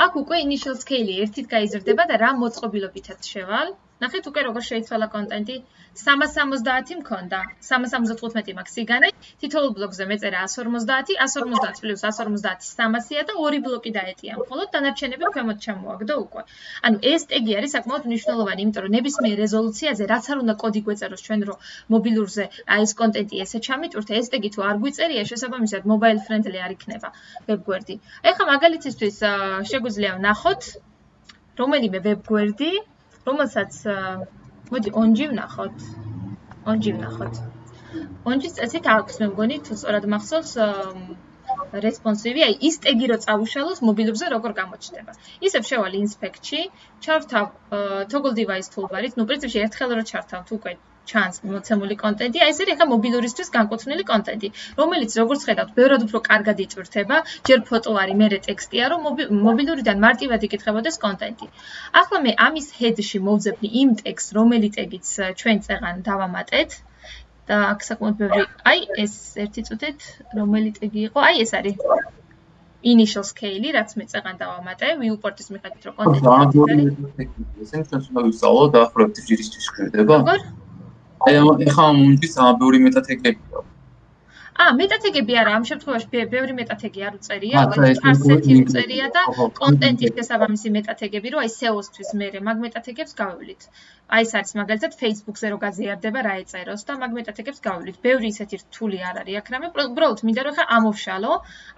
აქ უკვე initial scale-ი ერთით გაიზრდება და რა მოწყობილობითაც შევალ. ნახეთ უკვე როგორ შეიცვალა კონტენტი. სამას სამოცდაათი მქონდა, სამას სამოცდათხუთმეტი მაქვს სიგანე, თითოეულ ბლოკზე მეწერა εκατს ორმოცდაათი, εκατს ორმოცდაათი პლუს εκατს ორმოცდაათი სამასია და ორი ბლოკი დაეტია. მხოლოდ დანარჩენები ქვემოთ ჩამოაგდო უკვე. ანუ ეს ტეგი არის საკმაოდ მნიშვნელოვანი, იმიტომ რომ ნებისმიერ რეზოლუციაზე რაც არ უნდა კოდი გვეწეროს ჩვენ რომ მობილურზე აი ეს კონტენტი ესე ჩამიტვირთ, ეს ტეგი თუ არ გვიწერია, შესაბამისად mobile friendly არ იქნება web გვერდი. ეხლა მაგალითისთვის შეგვიძლია ვნახოთ რომელიმე web გვერდი, რომელსაც მოდი onji ვნახოთ. onji ვნახოთ. onji-ს წესით აქვს მე მგონი თუ სწორად მახსოვს responsive, აი ის ტეგი რო წავუშალოს მობილურზე როგორ გამოჩნდება. ისევ შევალ inspect-ში, ჩავთავ toggle device toolbar-ით, ნუ პრინციპში ერთხელ რო ჩავთავთ უკვე ჩანს მოცემული კონტენტი, აი ეს არის ახლა მობილურისთვის განკუთვნილი კონტენტი, რომელიც როგორც ხედავთ, ბევრად უფრო კარგად იწვრთება, ჯერ ფოტო არის, მერე ტექსტია, რომ მობილურიდან მარტივად იკითხებოდეს კონტენტი. ახლა მე ამის head-ში მოვძებნი იმ ტექსტს, რომელი ტეგიც ჩვენ წეღან დავამატეთ და აქ საკმაოდ ბევრი, აი ეს ერთი წუთით რომელი ტეგი იყო, აი ეს არის initial scale-ი, რაც მე წეღან დავამატე, viewport-ის მიხედვით რომ კონტენტი არის. ესენი ჩვენს უნდა ვისწავლოთ და პროექტის ჯირისთვის გვერდება. როგორ? აი ეხლა მომდის ამ ბევრი მეტათეგებია. ა, მეტათეგები არა, ამ შემთხვევაში ბევრი მეტათეგი არ უწერია, ჩარსეთი უწერია და კონტენტის შესაბამისი მეტათეგები, რომ აი S E O-სთვის მერე მაგ მეტათეგებს გავივლით. აი ეს არის მაგალითად Facebook-ზე რო გაზიარდება რა ეწეროს და მაგ მეტათეგებს გავივლით. ბევრი ისეთი რთული არ არის აქ რამე, უბრალოდ მინდა რომ ხა ამოვშალო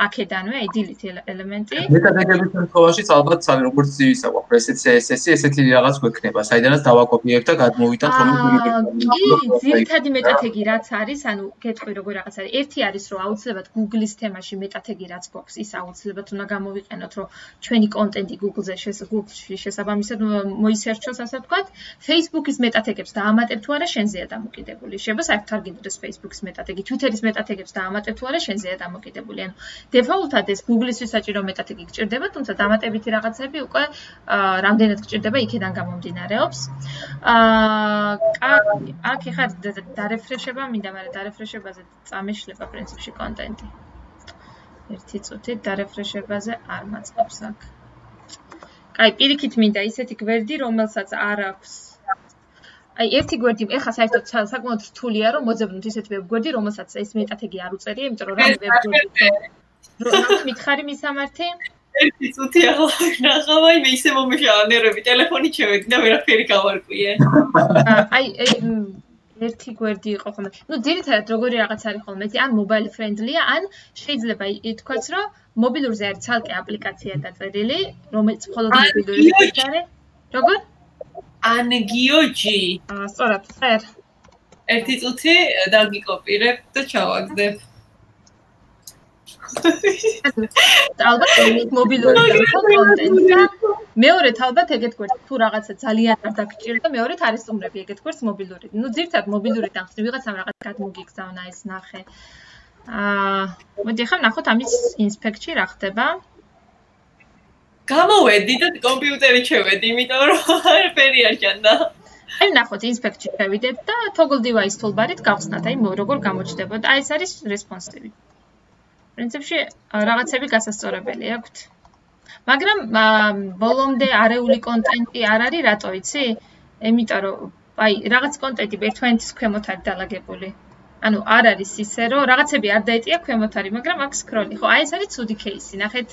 აქედანვე, აი delete ელემენტი. მეტათეგების შემთხვევაშიც ალბათ სამი როგორც ისა გვაქვს, ესეც ესეთი ესეთი რაღაც გვექნება, საიდანაც დავაკოპიებ და გადმოვიტანთ რომელიც კი, ძირითადი მეტათეგი რაც არის, ანუ გეტყვი როგორ რაღაც არის. ერთი არის რომ აუცილებლად Google-ის თემაში მეტათეგი რაც გვაქვს, ის აუცილებლად უნდა გამოვიყენოთ, რომ ჩვენი კონტენტი Google-ზე Google-ში შესაბამისად მოისერჩოს, ასე ვთქვათ. Facebook-ის მეტათეგებს დაამატებ თუ არა, შენზეა დამოკიდებული. შეიძლება საერთოდ არ გინდოდეს Facebook-ის მეტათეგი, Twitter-ის მეტათეგებს დაამატებ თუ არა, შენზეა დამოკიდებული. ანუ დეფაულტად ეს Google-ისთვის საჭირო მეტათეგი გჭირდება, თუმცა დამატებითი რაღაცები უკვე რამდენად გჭირდება, იქიდან გამომდინარეობს. აა აქ ეხლა დარეფრეშება მინდა, მაგრამ დარეფრეშებაზე წამეშლება პრინციპში კონტენტი. ერთი წუთით დარეფრეშებაზე არ მაწყობს აქ. კაი, პირიქით მინდა ისეთი გვერდი, რომელსაც არ აქვს. აი, ერთი გვერდი, ეხლა საერთოდ საკმაოდ რთულია, რომ მოძებნოთ ისეთ web გვერდი, რომელსაც ეს მეტათეგი არ უწერია, იმიტომ რომ რამე web გვერდი. რომ მითხარი მისამართი? ერთი წუთი ახლა ნახავ, აი მე ისე მომიშალა ნერვები, ტელეფონით შევედი და ვერაფერი გავარკვიე. აი, ერთი გვერდი იყო ხოლმე. ნუ ძირითადად როგორი რაღაც არის ხოლმე, ან mobile friendly-ია, ან შეიძლება ითქვას, რომ მობილურზე არის ცალკე აპლიკაცია დაწერილი, რომელიც მხოლოდ მობილურით არის. როგორ? Angioji. აა, სწორად, ხერ. ერთი წუთი დაგიკოპირებ და ჩავაგდებ. ალბათ მობილური კონტენტი და მეორედ ალბათ ეგეთ გვერდს თუ რაღაცა ძალიან არ დაგჭირდა, მეორედ არის სტუმრები ეგეთ გვერდს მობილური. ნუ ძირთად მობილურიდან ხსნი ვიღაცამ რაღაც გადმოგიგზავნა ეს ნახე. აა, მოდი ახლა ნახოთ ამის ინსპექტში რა ხდება. გამოვედი და კომპიუტერი შევედი, იმიტომ რომ არაფერი არ ჭანდა. აი ნახოთ ინსპექტში შევიდეთ და toggle device toolbar-ით გავხსნათ, აი როგორ გამოჩნდებოდა. აი ეს არის responsive. პრინციპში რაღაცები გასასწორებელი აქვთ. მაგრამ ბოლომდე არეული კონტენტი არ არის, რატო იცი? იმიტომ რომ აი რაღაც კონტენტი ერთმანეთის ქვემოთ არის დალაგებული. ანუ არ არის ისე რომ რაღაცები არ დაეტია ქვემოთ არის, მაგრამ აქ სკროლი. ხო, აი ეს არის ცუდი кейსი. ნახეთ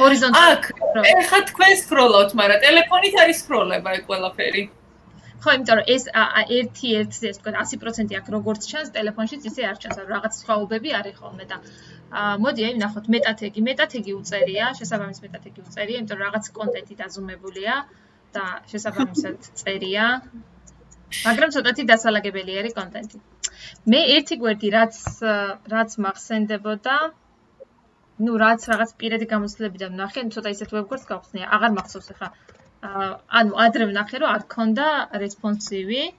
ჰორიზონტალურად. აქ ეხა თქვენ სკროლავთ, მაგრამ ტელეფონით არის სკროლება ეგ ყველაფერი. ხო, იმიტომ რომ ეს ერთი ერთზე ეს თქვა ასი პროცენტი აქ როგორც ჩანს, ტელეფონშიც ისე არ ჩანს, ანუ რაღაც სხვაობები არის ხოლმე და მოდი აი ნახოთ მეტათეგი, მეტათეგი უწერია, შესაბამის მეტათეგი უწერია, იმიტომ რომ რაღაც კონტენტი დაზუმებულია და შესაბამისად წერია. მაგრამ ცოტათი დასალაგებელი არის კონტენტი. მე ერთი გვერდი რაც რაც მახსენდებოდა, ну, რაც რაღაც პირადი გამოცდილებიდან ვნახე, ცოტა ისეთ ვებგვერდს გავხსნია, აღარ მახსოვს ახლა. ანუ ადრე ვნახე, რომ არ ქონდა responsive.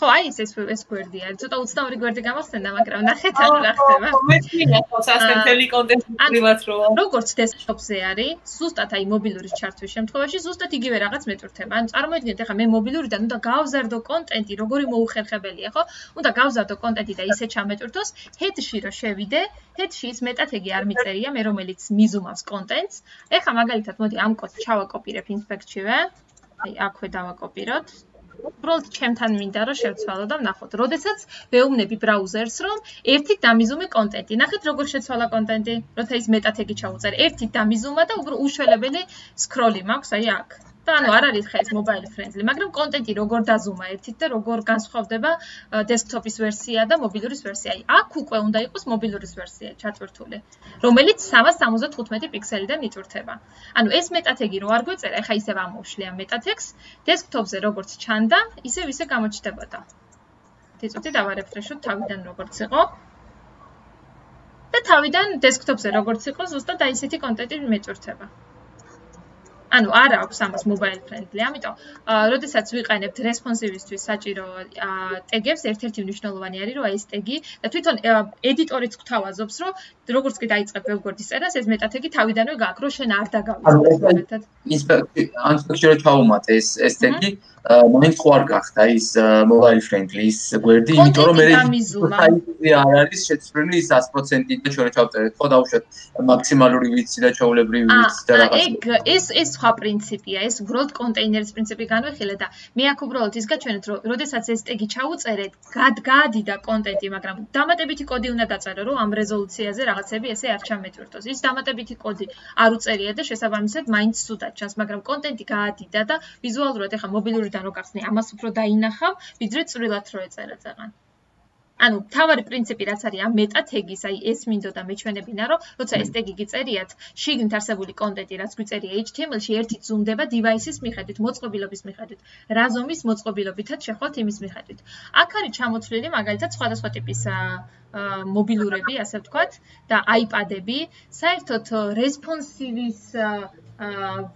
ხო, აი ეს ეს გვერდი არის. ცოტა ოცდაორი გვერდი გამახსენდა, მაგრამ ნახეთ რა ხდება. მე მინახავს ასე მთელი კონტენტი პრივატ როა. როგორც დესკტოპზე არის, ზუსტად აი მობილურის ჩართვის შემთხვევაში ზუსტად იგივე რაღაც მეტვირთება. ანუ წარმოიდგინეთ, ახლა მე მობილურიდან უნდა გავზარდო კონტენტი, როგორი მოუხერხებელია, ხო? უნდა გავზარდო კონტენტი და ისე ჩამეტვირთოს, head-ში რო შევიდე, head-ში ის მეტათეგი არ მიწერია, მე რომელიც მიზუმავს კონტენტს. ეხლა მაგალითად, მოდი ამ კოდს ჩავაკოპირებ ინსპექტშივე. აი, აქვე დავაკოპიროთ. უბრალოდ ჩემთან მინდა რომ შევცვალო და ვნახოთ. როდესაც ვეუბნები ბრაუზერს, რომ ერთით დამიზუმე კონტენტი. ნახეთ როგორ შეცვალა კონტენტი, როცა ის მეტათეგი ჩაუწერ. ერთით დამიზუმა და უბრალოდ უშველებელი სკროლი მაქვს აი აქ. და ანუ არ არის ხა ეს mobile friendly, მაგრამ კონტენტი როგორ დაზუმა ერთით და როგორ განსხვავდება desktop-ის ვერსია და მობილურის ვერსია. აი აქ უკვე უნდა იყოს მობილურის ვერსია ჩატვირთული, რომელიც სამას სამოცდათხუთმეტი პიქსელიდან იტვირთება. ანუ ეს მეტათეგი რო არ გვეწერა, ეხა ისევ ამოვშლი ამ მეტათეგს, desktop-ზე როგორც ჩანდა, ისევ ისე გამოჩნდებოდა. დიწუთი დავარეფრეშოთ თავიდან როგორც იყო. და თავიდან desktop-ზე როგორც იყო, ზუსტად აი ესეთი კონტენტი მეტვირთება. ანუ არ აქვს ამას mobile friendly, ამიტომ, როდესაც ვიყენებთ responsive-ისთვის საჭირო ტეგებს, ერთ-ერთი მნიშვნელოვანი არის, რომ აი ეს ტეგი და თვითონ ედიტორიც გვთავაზობს, რომ როგორც კი დაიწყებ ვებგვერდის წერას, ეს მეტათეგი თავიდანვე გაქვს, რომ შენ არ დაგავიწყდეს. ინსპექტში რო ჩაუმატე ეს ეს ტეგი, მაინც ხო არ გახდა ის mobile friendly ის გვერდი, იმიტომ რომ მე საიტზე არ არის შეცვლილი ის ას პროცენტი და ჩვენ ჩავწერეთ, ხო დავუშვათ მაქსიმალური ვიცი და ჩვეულებრივი ვიცი და რაღაც. ეგ ეს ეს სხვა პრინციპია, ეს უბრალოდ კონტეინერის პრინციპი განვიხილე და მე აქ უბრალოდ ის გაჩვენეთ, რომ როდესაც ეს ტეგი ჩაუწერეთ, გადაადიდა კონტენტი, მაგრამ დამატებითი კოდი უნდა დაწერო, რომ ამ რეზოლუციაზე რაღაცები ესე არ ჩამეტვირთოს. ის დამატებითი კოდი არ უწერია და შესაბამისად მაინც სუდად ჩანს, მაგრამ კონტენტი გაადიდა და ვიზუალურად ეხა მობილურიდან რო გახსნე, ამას უფრო დაინახავ, ვიდრე წვრილად რო ეწერა წაღან. ანუ თავარი პრინციპი რაც არის ამ მეტათეგის, აი ეს მინდოდა მეჩვენებინა, რომ როცა ეს ტეგი გიწერიათ, შიგნით არსებული კონტენტი რაც გვიწერია H T M L-ში ერთით ზუმდება device-ის მიხედვით, მოწყობილობის მიხედვით, რა ზომის მოწყობილობითაც შეხვალთ იმის მიხედვით. აქ არის ჩამოცვლილი მაგალითად სხვადასხვა ტიპის მობილურები, ასე ვთქვათ, და iPad-ები, საერთოდ responsive-ის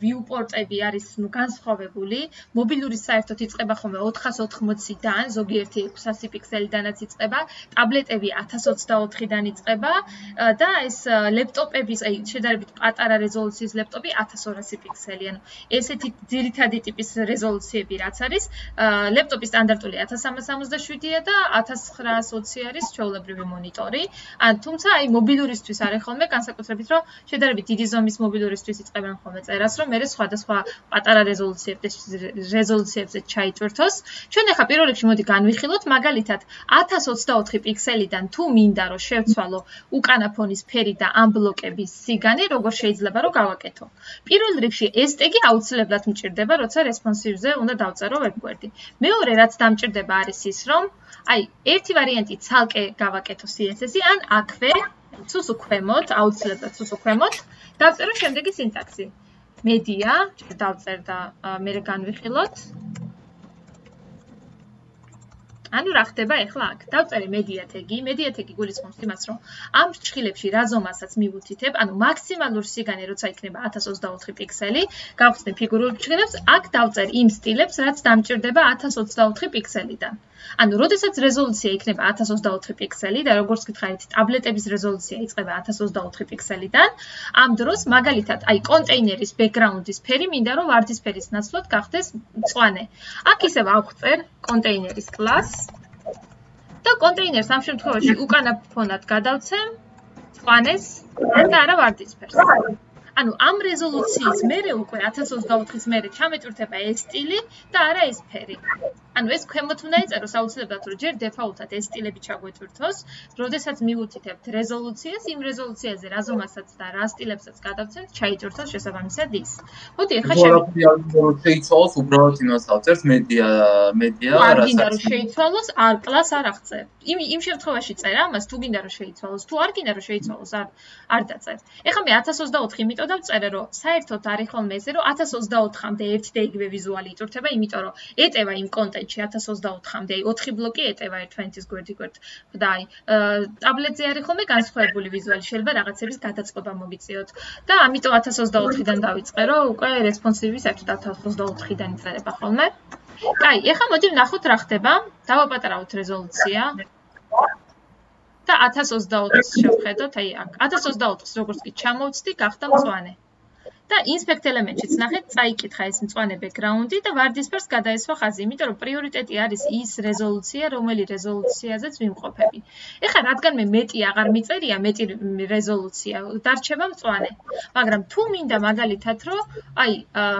viewport-ები არის განსხვავებული. მობილურის საერთოდ იწყება ხოლმე ოთხას ოთხმოციდან, ზოგიერთი ექვსასი პიქსელიდანაც იწყება, ტაბლეტები ათას ოცდაოთხიდან იწყება და ეს ლეპტოპების, აი შედარებით პატარა რეზოლუციის ლეპტოპი ათას ორასი პიქსელი. ანუ ესეთი ძირითადი ტიპის რეზოლუციები რაც არის, ლეპტოპის სტანდარტული ათას სამას სამოცდაშვიდია და ათას ცხრაას ოცი არის ჩვეულებრივი მონიტორი. თუმცა აი მობილურისთვის არის ხოლმე განსაკუთრებით, რომ შედარებით დიდი ზომის მობილურისთვის იწყებენ ხოლმე წერას, რომ მე სხვადასხვა პატარა რეზოლუციებზე ჩაიტვირთოს. ჩვენ ახლა პირველ რიგში მოდი განვიხილოთ, მაგალითად ათას ოცდაოთხი პიქსელიდან თუ მინდა რომ შევცვალო უკანა ფონის ფერი და ამ ბლოკების სიგანი, როგორ შეიძლება რომ გავაკეთო. პირველ რიგში ეს ტეგი აუცილებლად მჭირდება, როცა responsive-ზე უნდა დავწერო ვებგვერდი. მეორე რაც დამჭირდება არის ის, რომ აი ერთი ვარიანტი ცალკე გავაკეთო C S S-ი, ან აქვე ცუცუ ქვემოთ, აუცილებლად ცუცუ ქვემოთ, დავწერო შემდეგი სინტაქსი. media, დავწერ და მე განვიხილოთ. ანუ რა ხდება ახლა აქ? დავწერე media tag-ი, media tag-ი გულისხმობს იმას, რომ ამ ფრჩხილებში რა ზომასაც მივუთითებ, ანუ მაქსიმალური სიგანი როცა იქნება ათას ოცდაოთხი პიქსელი, გავხსნე ფიგურულ ფრჩხილებს, აქ დავწერ იმ სტილებს, რაც დამჭირდება ათას ოცდაოთხი პიქსელიდან. ანუ, როდესაც რეზოლუცია იქნება ათას ოცდაოთხი პიქსელი და როგორც გითხარით, ტაბლეტების რეზოლუცია იწყება ათას ოცდაოთხი პიქსელიდან, ამ დროს მაგალითად, აი კონტეინერის ბექგრაუნდის ფერი მინდა რომ ვარდისფერის ნაცვლად გახდეს მწვანე. აქ ისევ ავხწერ კონტეინერის კლასს და კონტეინერს ამ შემთხვევაში უკანა ფონად გადავცემ მწვანეს და არა ვარდისფერს. ანუ ამ რეზოლუციის მერე უკვე ათას ოცდაოთხის მერე ჩამეტვირთება ეს სტილი და არა ეს ფერი. ანუ ეს ქვემოთ უნდა იწეროს აუცილებლად რომ ჯერ დეფაულტად ეს სტილები ჩაგვეტვირთოს, როდესაც მივუთითებთ რეზოლუციას, იმ რეზოლუციაზე რა ზომასაც და რა სტილებსაც გადავცემთ, ჩაიტვირთოს შესაბამისად ის. მოდი ახლა შეიცვალოს უბრალოდ იმას ავწერთ მედია მედია არ გინდა რომ შეიცვალოს, არ კლას არ აღწევ. იმ იმ შემთხვევაში წერ ამას თუ გინდა რომ შეიცვალოს, თუ არ გინდა რომ შეიცვალოს, არ არ დაწერ. ეხლა მე ათას ოცდაოთხი იმიტომ დავწერე რომ საერთოდ არის ხოლმე ესე რომ ათას ოცდაოთხამდე ერთი და იგივე ვიზუალი იტვირთება, იმიტომ რომ ეტევა იმ კონტენტში ათას ოცდაოთხამდე ოთხი ბლოკი ეტევა ერთმანეთის გვერდი გვერდ. და აი ტაბლეტზე არის ხოლმე განსხვავებული ვიზუალი, შეიძლება რაღაცების გადაწყობა მოგიწიოთ. და ამიტომ ათას ოცდაოთხიდან დავიწყე რომ უკვე რესპონსივი საერთოდ ათას ოცდაოთხიდან იწერება ხოლმე. კაი, ეხლა მოდი ვნახოთ რა ხდება. დავაპატარავთ რეზოლუცია. და ათას ოცდაოთხს შევხედოთ, აი აქ ათას ოცდაოთხს როგორც კი ჩამოვცდი, გახდა მწვანე. და inspect element-შიც ნახეთ, წაიკითხა ეს მწვანე background-ი და ვარდისფერს გადაესვა ხაზი, იმიტომ რომ პრიორიტეტი არის ის რეზოლუცია, რომელი რეზოლუციაზეც ვიმყოფები. ეხლა რადგან მე მეტი აღარ მიწერია, მეტი რეზოლუცია, დარჩება მწვანე. მაგრამ თუ მინდა მაგალითად, რომ აი,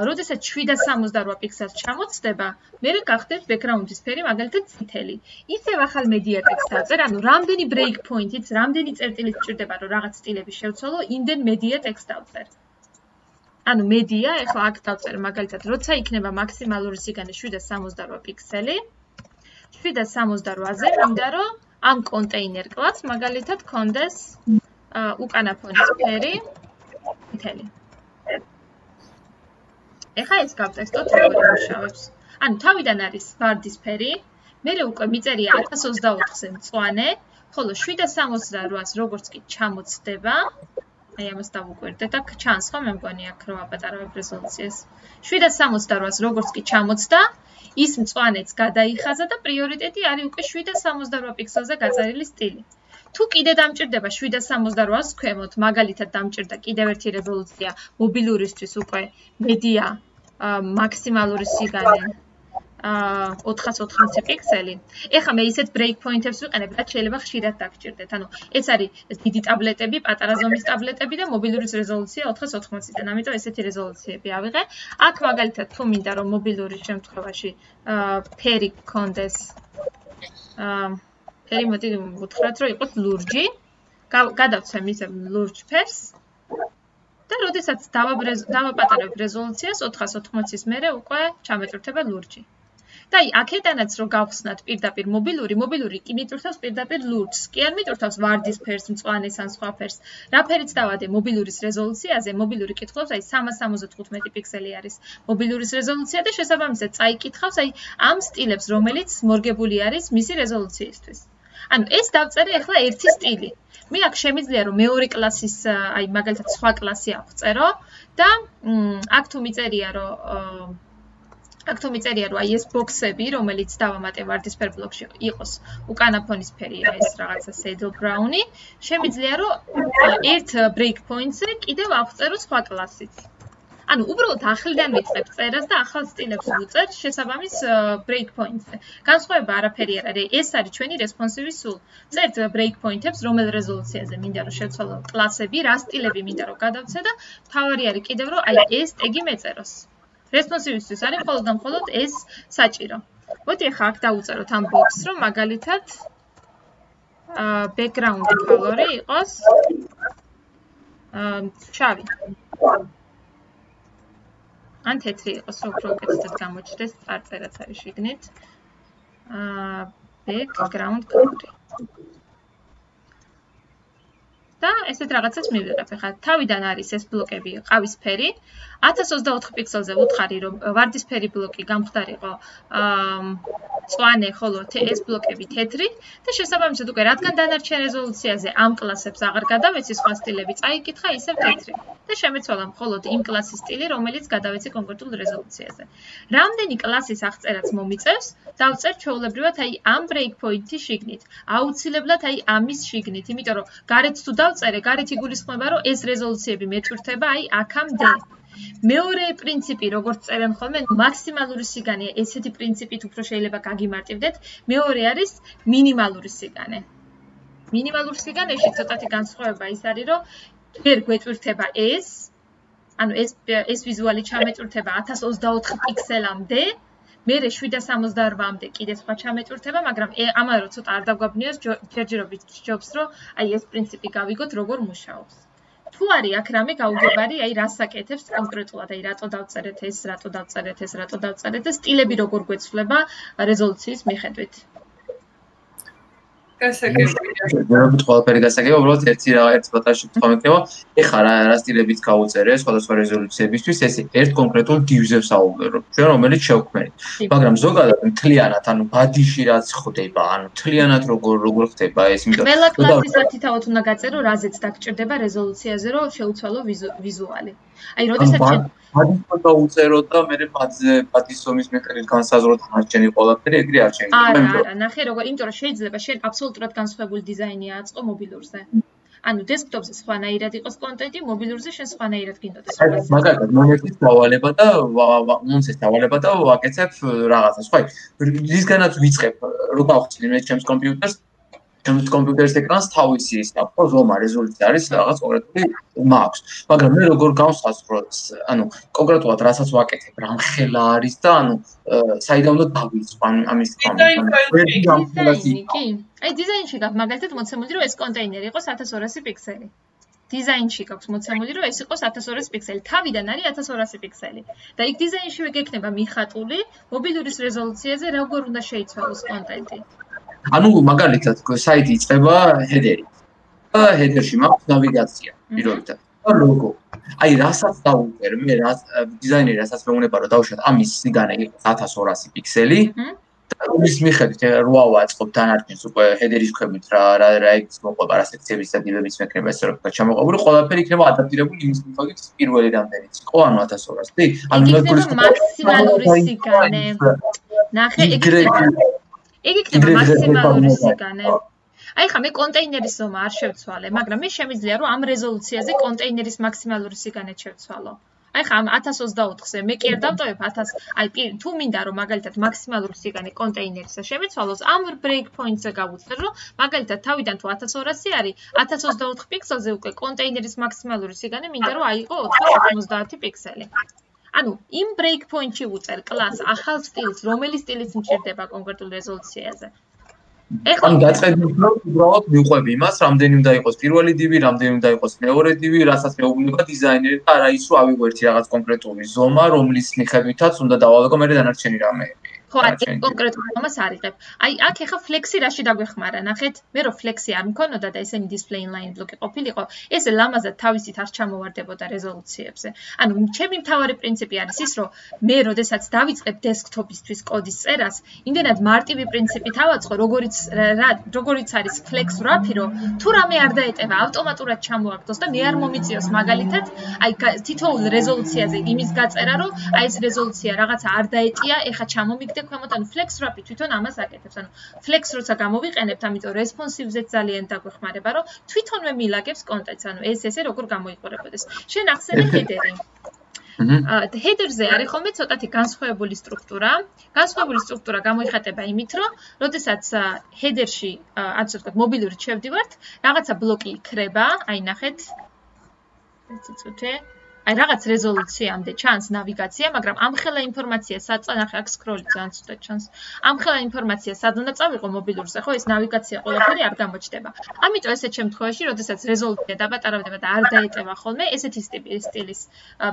როდესაც შვიდ სამოცდარვა პიქსელს ჩამოცდება, მე გახდეთ background-ის ფერი მაგალითად წითელი. ისევ ახალ media text დავწერ, ანუ რამდენი break point-იც, რამდენი წერტილიც ჭირდება, რომ რაღაც სტილები შევცვალო, იმდენ media text დავწერ. ანუ media, ეხლა აქ დავწერ მაგალითად, როცა იქნება მაქსიმალური სიგანე შვიდ სამოცდარვა პიქსელი, შვიდ სამოცდარვაზე მინდა რომ ამ კონტეინერ კლასს მაგალითად კონდეს უკანა ფონის ფერი მთელი. ეხლა ეს გავტესტოთ როგორ იმუშავებს. ანუ თავიდან არის ვარდისფერი, მერე უკვე მიწერია ათას ოცდაოთხზე მწვანე, ხოლო შვიდ სამოცდარვას როგორც კი ჩამოცდება, აი ამას დავუკვირდეთ და ჩანს ხო მე მგონი აქ რომ აპატარავებ რეზოლუციას. შვიდ სამოცდარვას როგორც კი ჩამოცდა, ის მწვანეც გადაიხაზა და პრიორიტეტი არის უკვე შვიდ სამოცდარვა პიქსელზე გაწერილი სტილი. თუ კიდე დამჭირდება შვიდ სამოცდარვას ქვემოთ, მაგალითად დამჭირდა კიდევ ერთი რეზოლუცია მობილურისთვის უკვე media მაქსიმალური სიგანე ოთხას ოთხმოცი პიქსელი. ეხლა მე ისეთ break point-ებს ვიყენებ, რაც შეიძლება ხშირად დაგჭირდეთ. ანუ ეს არის დიდი ტაბლეტები, პატარა ზომის ტაბლეტები და მობილურის რეზოლუცია ოთხას ოთხმოციდან. ამიტომ ესეთი რეზოლუციები ავიღე. აქ მაგალითად თუ მინდა რომ მობილურის შემთხვევაში ფერი გქონდეს ფერი მოდი ვუთხრათ რომ იყოს ლურჯი. გადავცემ ისე ლურჯ ფერს. და როდესაც დავაპატარებ რეზოლუციას ოთხას ოთხმოცის მერე უკვე ჩამეტვირთება ლურჯი. და აი აქედანაც რომ გავხსნათ პირდაპირ მობილური, მობილური კი მიტვირთავს პირდაპირ ლურჯს, კი არ მიტვირთავს ვარდისფერს, მწვანეს ან სხვა ფერს. რა ფერიც დავადე მობილურის რეზოლუციაზე, მობილური კითხავს, აი სამას სამოცდათხუთმეტი პიქსელი არის მობილურის რეზოლუცია და შესაბამისად წაიკითხავს აი ამ სტილებს, რომელიც მორგებული არის მისი რეზოლუციისთვის. ანუ ეს დავწერე ახლა ერთი სტილი. მე აქ შემიძლია რომ მეორე კლასის, აი მაგალითად სხვა კლასი ავწერო და აქ თუ მიწერია რომ აქ თუ მიწერია რომ აი ეს ბოქსები, რომელიც დავამატე ვარდისფერ ბლოკში იყოს უკანა ფონის ფერია ეს რაღაცა saddle brown-ი, შემიძლია რომ ერთ break point-ზე კიდევ ავწერო სხვა კლასიც. ანუ უბრალოდ ახლიდან ვიწყებ წერას და ახალ სტილებს ვუწერ შესაბამის break point-ზე. განსხვავება არაფერი არ არის, ეს არის ჩვენი responsive სულ. წერთ break point-ებს, რომელ რეზოლუციაზე მინდა რომ შევცვალო კლასები, რა სტილები მინდა რომ გადავცე და თავარი არის კიდევ რომ აი ეს ტეგი მეწეროს. responsive-ისთვის არის მხოლოდ და მხოლოდ ეს საჭირო. მოდი ახლა აქ დავუწეროთ ამ box-ს, რომ მაგალითად background color-ი იყოს შავი. ან თეთრი იყოს, უფრო უკეთესად გამოჩნდეს წარწერაც არის შიგნით. background color. და ესეთ რაღაცას მივიღებ. ახლა თავიდან არის ეს ბლოკები ყავისფერი, ათას ოცდაოთხ პიქსელზე ვუთხარი, რომ ვარდისფერი ბლოკი გამხდარიყო მწვანე, ხოლო ეს ბლოკები თეთრი და შესაბამისად უკვე რადგან დანარჩენ რეზოლუციაზე ამ კლასებს აღარ გადავეცი სხვა სტილები, წაიკითხა ისევ თეთრი და შემეცვალა მხოლოდ იმ კლასის სტილი, რომელიც გადავეცი კონკრეტულ რეზოლუციაზე. რამდენი კლასის აღწერაც მომიწევს, დავწერ ჩვეულებრივად აი ამ breakpoint-ის შიგნით. აუცილებლად აი ამის შიგნით, იმიტომ რომ გარეთ თუ დავწერე, გარეთ იგულისხმება, რომ ეს რეზოლუციები მეტვირთება აი აქამდე. მეორე პრინციპი, როგორც წერენ ხოლმე, მაქსიმალური სიგანეა, ესეთი პრინციპით უფრო შეიძლება გაგიმარტივდეთ. მეორე არის მინიმალური სიგანე. მინიმალურ სიგანეში ცოტათი განსხვავება ის არის, რომ ვერ გვეტვირთება ეს, ანუ ეს ეს ვიზუალი ჩამეტვირთება ათას ოცდაოთხ პიქსელამდე, მერე შვიდას სამოცდაოთხამდე კიდე სხვა ჩამეტვირთება, მაგრამ ამაზე რომ ცოტა არ დაგვაბნიოს, ჯერჯერობით ჯობს, რომ აი ეს პრინციპი გავიგოთ, როგორ მუშაობს. თუ არის აქ რამე გაუგებარი, აი რას აკეთებს კონკრეტულად, აი რატო დავწერეთ ეს, რატო დავწერეთ ეს, რატო დავწერეთ და სტილები როგორ გვეცვლება რეზოლუციის მიხედვით. გასაგებია. ზოგადად ყველაფერი გასაგებია, უბრალოდ ერთი რა ერთი პატარა შეკითხვა მექნება. ეხლა რა რა სტილებიც გავუწერე სხვადასხვა რეზოლუციებისთვის, ეს ერთ კონკრეტულ divs-ზე ვსაუბრობ, ჩვენ რომელიც შევქმნით. მაგრამ ზოგადად მთლიანად, ანუ ბადიში რაც ხდება, ანუ მთლიანად როგორ როგორ ხდება ეს, იმიტომ ყველა კლასის ათითაოთ უნდა გაწერო, რაზეც დაგჭირდება რეზოლუციაზე, რომ შეუცვალო ვიზუალი. აი, როდესაც ბადის უნდა უწერო და მე ბადზე ბადის ზომის მიხედვით განსაზღვროთ მარჯენი ყველაფერი, ეგრე არ შეიძლება. არა, არა, ნახე როგორ, იმიტომ რომ შეიძლება შენ აბსოლუტურად განსხვავებული დიზაინი აწყო მობილურზე. ანუ დესკტოპზე სხვანაირად იყოს კონტენტი, მობილურზე შენ სხვანაირად გინდოდეს. მაგალითად, მონეტის დავალება და მონცეს დავალება და ვაკეთებ რაღაცას. ხო, რისგანაც ვიწყებ, რო გავხსნი მე ჩემს კომპიუტერს, ჩემს კომპიუტერის ეკრანს თავისი ის აქვს, ზომა, რეზოლუცია არის რაღაც კონკრეტული მაქვს. მაგრამ მე როგორ გავსაზღვროთ, ანუ კონკრეტულად რასაც ვაკეთებ, რამხელა არის და ანუ საიდან უნდა დავიწყო ამის დიზაინი. კი. აი დიზაინში გაქვს მაგალითად მოცემული, რომ ეს კონტეინერი იყოს ათას ორასი პიქსელი. დიზაინში გაქვს მოცემული, რომ ეს იყოს ათას ორასი პიქსელი. თავიდან არის ათას ორასი პიქსელი. და იქ დიზაინშივე გექნება მიხატული მობილურის რეზოლუციაზე, როგორ უნდა შეიცვალოს კონტენტი. ანუ მაგალითად საიტი იწყება header-ით. და header-ში მაქვს ნავიგაცია პირველად. და ლოგო. აი რასაც დავუწერ, მე რა დიზაინერი რასაც მეუნება რომ დავუშვათ ამის სიგანე იყოს ათას ორასი პიქსელი. და ის მიხედვით რო ავაწყობ დანარჩენს უკვე header-ის ქვებით რა რა რა ის მოყვება რა სექციების და დილების მექნება ესე რომ ჩამოყვებული ყველაფერი იქნება ადაპტირებული იმის მიხედვით პირველი რამდენიც იყო ანუ ათას ორასი. ანუ მაქსიმალური სიგანე. ნახე ეგრე იგი იქნება მაქსიმალური სიგანე. აი ხა მე კონტეინერის ზომა არ შევცვალე, მაგრამ მე შემიძლია რომ ამ რეზოლუციაზე კონტეინერის მაქსიმალური სიგანე შევცვალო. აი ხა ამ ათას ოცდაოთხზე მე კი არ დავტოვებ ათას, აი თუ მინდა რომ მაგალითად მაქსიმალური სიგანე კონტეინერისა შემეცვალოს, ამ break point-ზე გავუწერ რომ მაგალითად თავიდან თუ ათას ორასი არის, ათას ოცდაოთხ პიქსელზე უკვე კონტეინერის მაქსიმალური სიგანე მინდა რომ აიღო ოთხას ოცდაათი პიქსელი. ანუ იმ break point-ში უწერ კლას ახალ სტილს, რომელი სტილიც მჭირდება კონკრეტულ რეზოლუციაზე. ეხლა გაწყედით რომ უბრალოდ მიყვები იმას, რამდენი უნდა იყოს პირველი div-ი, რამდენი უნდა იყოს მეორე div-ი, რასაც მეუბნება დიზაინერი და არა ის რომ ავიღვერთი რაღაც კონკრეტული ზომა, რომლის მიხედვითაც უნდა დავალაგო მე დანარჩენი რამეები. ხო, აი კონკრეტულ ზომას არიღებ. აი აქ ეხა ფლექსი რაში დაგვეხმარა, ნახეთ, მე რო ფლექსი არ მქონოდა და ესენი display inline ბლოკი ყოფილიყო, ეს ლამაზად თავისით არ ჩამოვარდებოდა რეზოლუციებზე. ანუ ჩემი მთავარი პრინციპი არის ის, რომ მე როდესაც დავიწყებ დესკტოპისთვის კოდის წერას, იმდენად მარტივი პრინციპით ავაწყო, როგორიც როგორიც არის flex wrap-ი, რომ თუ რამე არ დაეტევა, ავტომატურად ჩამოაგდოს და მე არ მომიწიოს მაგალითად, აი თითოეულ რეზოლუციაზე იმის გაწერა, რომ აი ეს რეზოლუცია რაღაცა არ დაეტია, ეხა ჩამომიგდე ქვემოთ, ანუ flex wrap-ი თვითონ ამას აკეთებს. ანუ flex როცა გამოვიყენებთ, ამიტომ responsive-ზეც ძალიან დაგვეხმარება, რომ თვითონვე მილაგებს კონტენტს, ანუ ეს ესე როგორ გამოიყურებოდეს. შენ ახსენე header-ი. აა header-ზე არის ხოლმე ცოტათი განსხვავებული სტრუქტურა. განსხვავებული სტრუქტურა გამოიხატება იმით, რომ როდესაც header-ში, ასე ვთქვათ, მობილურით შევდივართ, რაღაცა ბლოკი იქრება, აი ნახეთ. ეს ცოტა აი რაღაც რეზოლუციამდე ჩანს ნავიგაცია, მაგრამ ამხელა ინფორმაცია საწანახე აქ სკროლი ძალიან ცუდად ჩანს. ამხელა ინფორმაცია სად უნდა წავიღო მობილურზე, ხო, ეს ნავიგაცია ყველაფერი არ გამოჩნდება. ამიტომ ესეთ შემთხვევაში, როდესაც რეზოლუცია დაბატარავდება და არ დაეტევა ხოლმე, ესეთი სტილის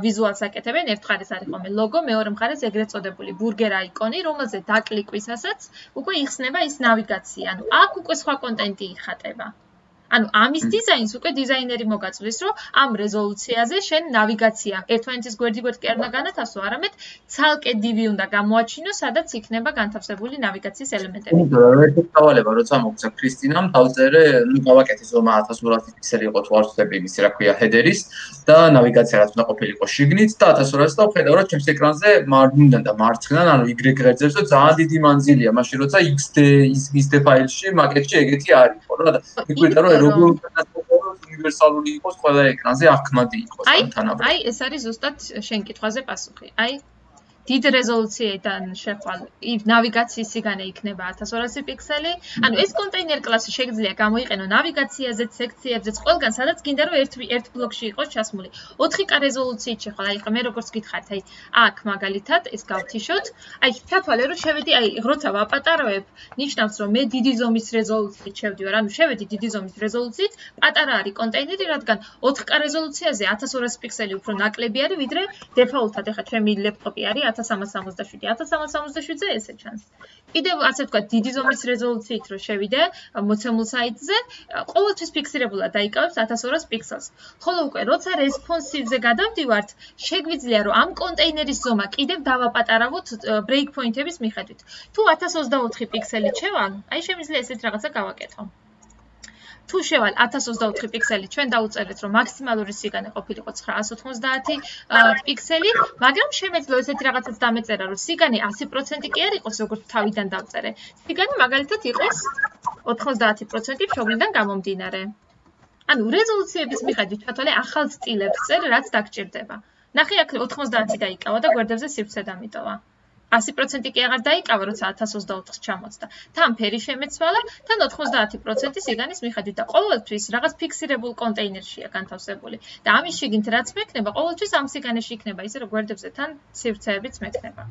ვიზუალს აკეთებენ. ერთ მხარეს არის ხოლმე ლოგო, მეორე მხარეს ეგრეთ წოდებული ბურგერ აიკონი, რომელზე დაკლიკვისასაც უკვე იხსნება ის ნავიგაცია. ანუ აქ უკვე სხვა კონტენტი იხატება. ანუ ამის დიზაინს უკვე დიზაინერი მოგაწვდის, რომ ამ რეზოლუციაზე შენ ნავიგაცია ერთმანეთის გვერდ-გვერდ კი არ უნდა განათავსო, არამედ ცალკე დივი უნდა გამოაჩინო, სადაც იქნება განთავსებული ნავიგაციის ელემენტები. ერთი დავალება, როცა მოგცა ქრისტინამ, დავწერე, ნუ გავაკეთე ზომა ათას ორასი პიქსელი იყო თუ არ ვწდები ის რა ქვია ჰედერის და ნავიგაცია რაც უნდა ყოფილიყო შიგნით და ათას ორასი და ვხედავ, რომ ჩემს ეკრანზე მარჯვნიდან და მარცხნიდან, ანუ Y ღერძებს და ძალიან დიდი მანძილია, მაშინ როცა X D X D ფაილში მაკეტში ეგეთი არ იყო რა და მიგვიდა რომ როგორ უნივერსალური იყოს ყველა ეკრანზე აღქმადი იყოს თანაბრად. აი, ეს არის ზუსტად შენ კითხვაზე პასუხი. აი დიდ რეზოლუციიდან შეხვალ ნავიგაციის სიგანე იქნება ათას ორასი პიქსელი. ანუ ეს კონტეინერ კლასი შეგიძლია გამოიყენო ნავიგაციაზე, სექციებზე, ყველგან სადაც გინდა რომ ერთ ერთ ბლოკში იყოს ჩასმული. ოთხი K რეზოლუციით შეხვალ. აი, მე როგორც გითხართ, აი, აქ მაგალითად ეს გავთიშოთ. აი, ჩათვალე რომ შევედი, აი, როცა ვაპატარავებ, ნიშნავს რომ მე დიდი ზომის რეზოლუციით შევდივარ. ანუ შევედი დიდი ზომის რეზოლუციით, პატარა არის კონტეინერი, რადგან ოთხი K რეზოლუციაზე ათას ორასი პიქსელი უფრო ნაკლები არის, ვიდრე დეფაულტად ეხა ჩემი ლეპტოპი არის ათას სამას სამოცდაშვიდი. ათას სამას სამოცდაშვიდზე ესე ჩანს. კიდევ ასე ვთქვათ, დიდი ზომის რეზოლუციით რო შევიდე მოცემულ საიტზე, ყოველთვის ფიქსირებულად დაიკავებს ათას ორასი პიქსელს. ხოლო უკვე როცა რესპონსივზე გადავდივართ, შეგვიძლია რომ ამ კონტეინერის ზომა კიდევ დავაპატარავოთ ბრეიქ პოინტების მიხედვით. თუ ათას ოცდაოთხი პიქსელით შევალ, აი შემიძლია ესეთ რაღაცა გავაკეთო. თუ შევალ ათას ოცდაოთხი პიქსელი, ჩვენ დაუწერეთ რომ მაქსიმალური სიგანე ყოფილიყო ცხრაას ოთხმოცდაათი პიქსელი, მაგრამ შემეძლო ესეთი რაღაცაც დამეწერა, რომ სიგანე ასი პროცენტი კი არ იყოს, როგორც თავიდან დავწერე. სიგანე მაგალითად იყოს ოთხმოცდაათი პროცენტი მშობლიდან გამომდინარე. ანუ რეზოლუციების მიხედვით ჩათვალე ახალ სტილებს წერ, რაც დაგჭირდება. ნახე აქ ოთხმოცდაათი დაიკავა და გვერდებზე სივრცე დამიტოვა. ასი პროცენტი კი აღარ დაიკავა, როცა ათას ოცდაოთხს ჩამოწდა. თან ფერი შემეცვალა, თან ოთხმოცდაათი პროცენტი სიგანის მიხედვით და ყოველთვის რაღაც ფიქსირებულ კონტეინერშია განთავსებული. და ამის შიგნით რაც მექნება, ყოველთვის ამ სიგანეში იქნება, ისე რომ გვერდებზე თან სივრცეებიც მექნება.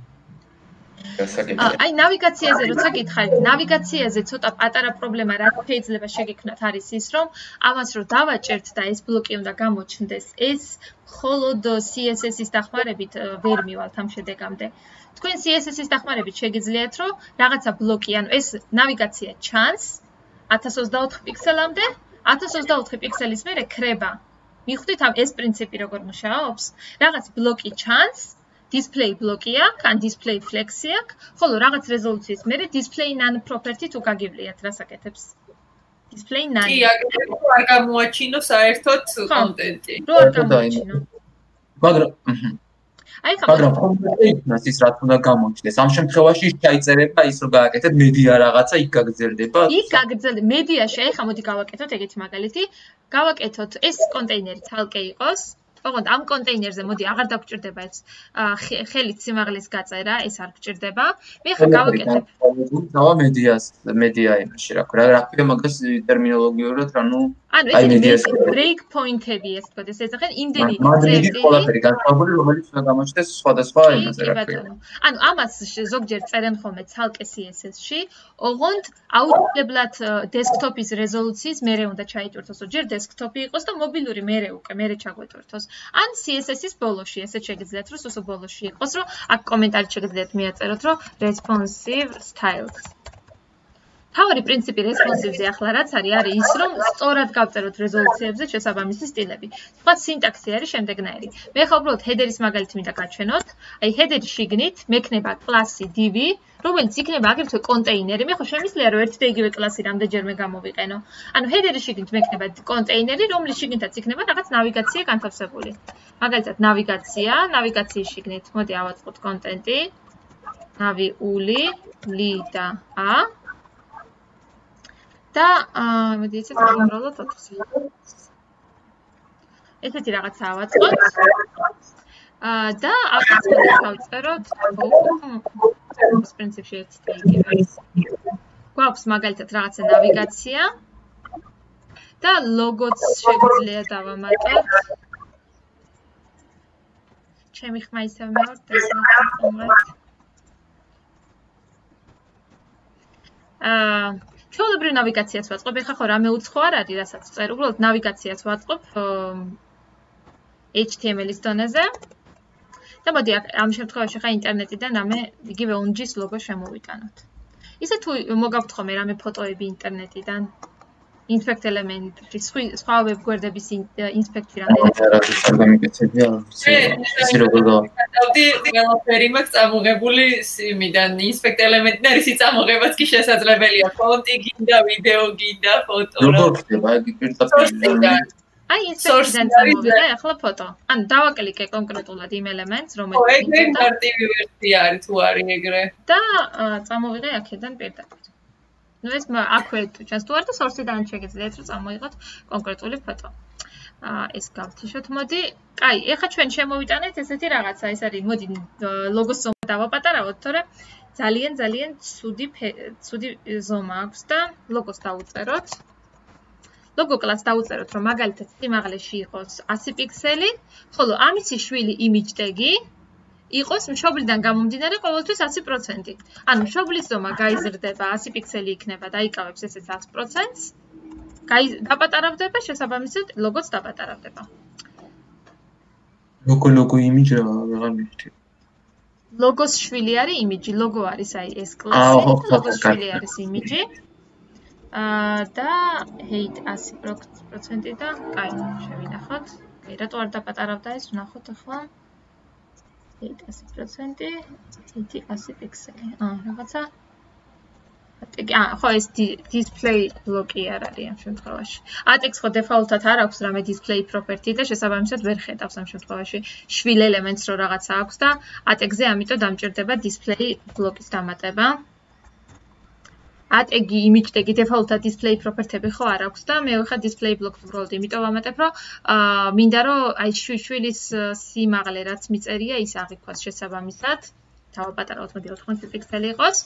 აი ნავიგაციაზე როცა გითხარით, ნავიგაციაზე ცოტა პატარა პრობლემა რა შეიძლება შეგექმნათ არის ის, რომ ამას რო დავაჭერთ და ეს ბლოკი უნდა გამოჩნდეს, ეს მხოლოდ C S S-ის დახმარებით ვერ მივალთ ამ შედეგამდე. თქვენ C S S-ის დახმარებით შეგიძლიათ რომ რაღაცა ბლოკი, ანუ ეს ნავიგაცია ჩანს ათას ოცდაოთხი პიქსელამდე, ათას ოცდაოთხი პიქსელის მერე ქრება. მიხვდით ამ ეს პრინციპი როგორ მუშაობს? რაღაც ბლოკი ჩანს, display ბლოკი აქვს, ან display flex-ი აქვს, ხოლო რაღაც რეზოლუციის მერე display none property თუ გაგივლიათ, რას აკეთებს? display none. კი, არ გამოაჩინო საერთოდ კონტენტი. რო არ გამოაჩინო. მაგრამ აი ხა მაგრამ კონტენტს ის რაც უნდა გამოჩნდეს. ამ შემთხვევაში შეიძლება ის რომ გააკეთეთ მედია რაღაცა იქ გაგრძელდება. იქ გაგრძელდება მედიაში, აი ხა მოდი გავაკეთოთ ეგეთი მაგალითი. გავაკეთოთ ეს კონტეინერი ცალკე იყოს. ოღონდ ამ კონტეინერზე მოდი აღარ დაგჭირდება ეს ხელით სიმაღლის გაწერა, ეს არ გჭირდება. მე ხა გავაკეთებ. დავა მედიას, მედია იმაში რა ქვია, რა ქვია მაგას ტერმინოლოგიურად, ანუ ანუ ეს break point-ები ეს თქო, ეს ეძახენ იმდენი ძებდი. ყველაფერი განსხვავებული, რომელიც უნდა გამოჩნდეს სხვადასხვა იმაზე რა ქვია. ანუ ამას ზოგჯერ წერენ ხოლმე ცალკე C S S-ში, ოღონდ აუცილებლად დესკტოპის რეზოლუციის მერე უნდა ჩაიტვირთოს, ჯერ დესკტოპი იყოს და მობილური მერე უკვე მერე ჩაგვეტვირთოს. ან C S S-ის ბოლოში, ესეც შეგიძლიათ რომ სუსო ბოლოში იყოს, რომ აქ კომენტარით შეგიძლიათ მიაწეროთ, რომ responsive styles. თავი პრინციპი responsive-ზე ახლა რაც არის, არის ის, რომ სწორად გავწეროთ რეზოლუციებზე შესაბამისი სტილები. სხვა სინტაქსი არის შემდეგნაირი. მე ხა უბრალოდ header-ის მაგალითი მინდა გაჩვენოთ. აი header-ის შიგნით მექნება კლასი div, რომელიც იქნება აგრეთვე კონტეინერი. მე ხო შემიძლია რომ ერთი და იგივე კლასი რამდენჯერმე გამოვიყენო. ანუ header-ის შიგნით მექნება კონტეინერი, რომლის შიგნითაც იქნება რაღაც ნავიგაცია განთავსებული. მაგალითად ნავიგაცია, ნავიგაციის შიგნით მოდი ავაწყოთ კონტენტი. navi uli li და a და მოდი ისე გავუმრავლოთ ოთხი. ესეთი რაღაცა ავაწყოთ. და აქაც მოდი გავწეროთ ეს პრინციპში ერთ იგივე. გვაქვს მაგალითად რაღაცა ნავიგაცია და ლოგოც შეგვიძლია დავამატოთ. ჩემი ხმა ისევ მეორთ ეს მომღერთ. აა ჩვეულებრივ ნავიგაციას ვაწყობ, ეხლა ხო რამე უცხო არ არის, რასაც წერ, უბრალოდ ნავიგაციას ვაწყობ H T M L-ის დონეზე. და მოდი ამ შემთხვევაში ხა ინტერნეტიდან რამე იგივე ონჯის ლოგო შემოვიტანოთ. ისე თუ მოგაქვთ ხოლმე რამე ფოტოები ინტერნეტიდან, inspect element-ში სხვა ვებგვერდების inspect-ი რამდენი არის არ გამიკეთებია ის როგორ გავდი ყველაფერი მაქვს წამოღებული იმიდან inspect element-ი არის წამოღებაც კი შესაძლებელია ფონტი გინდა ვიდეო გინდა ფოტო როგორ ხდება ეგ პირდაპირ აი inspect-დან წამოვიდა ახლა ფოტო ანუ დავაკლიკე კონკრეტულად იმ ელემენტს რომელიც ეგ მარტივი ვერსია არის თუ არის ეგრე და წამოვიღე აქედან პირდაპირ ну ეს აქვე ჩანს თუ არ და source-დან შეგიძლიათ რომ წამოიღოთ კონკრეტული ფოტო. აა ეს გავთიშოთ. მოდი, კაი, ეხლა ჩვენ შემოვიტანეთ ესეთი რაღაცა, ეს არის, მოდი ლოგოს ზომა დავაპატარავოთ, თორე ძალიან ძალიან ცუდი ცუდი ზომა აქვს და ლოგოს დავუწეროთ. ლოგო კლასს დავუწეროთ, რომ მაგალითად სიმაღლეში იყოს ასი პიქსელი, ხოლო ამისი შვილი image tag-ი იყოს მშობლიდან გამომდინარე ყოველთვის ასი პროცენტი. ანუ მშობლის ზომა გაიზრდება ასი პიქსელი იქნება და იკავებს ესეც ათს პროცენტს. დაპატარავდება შესაბამისად ლოგოც დაპატარავდება. ლოგო ლოგო იმიჯი აღარ მივხვდი. ლოგოს შვილი არის იმიჯი, ლოგო არის აი ეს კლასი, ლოგოს შვილი არის იმიჯი. აა და height ასი პროცენტი და კაი, შევინახოთ. კაი, რატო არ დაპატარავდა ეს? ვნახოთ ახლა. height ასი პროცენტი, height ასი პიქსელი. აა, რაღაცა. აა, ხო ეს display block-ი არ არის ამ შემთხვევაში. ატექს ხო default-ად არ აქვს რამე display property და შესაბამისად ვერ ხედავს ამ შემთხვევაში შვილ ელემენტს რო რაღაცა აქვს და ატექზე ამიტომ დამჭირდება display block-ის დამატება. ატეგი image tag-ი default-ად display property-ები ხო არ აქვს და მე ვიხარ display block-ს უბრალოდ იმიტომ ვამატებ, რომ აა მინდა რომ აი შვილის სიმაღლე რაც მიწერია ის აღიქვას შესაბამისად. დავაპატარავთ, მოდი ოთხმოცი პიქსელი იყოს.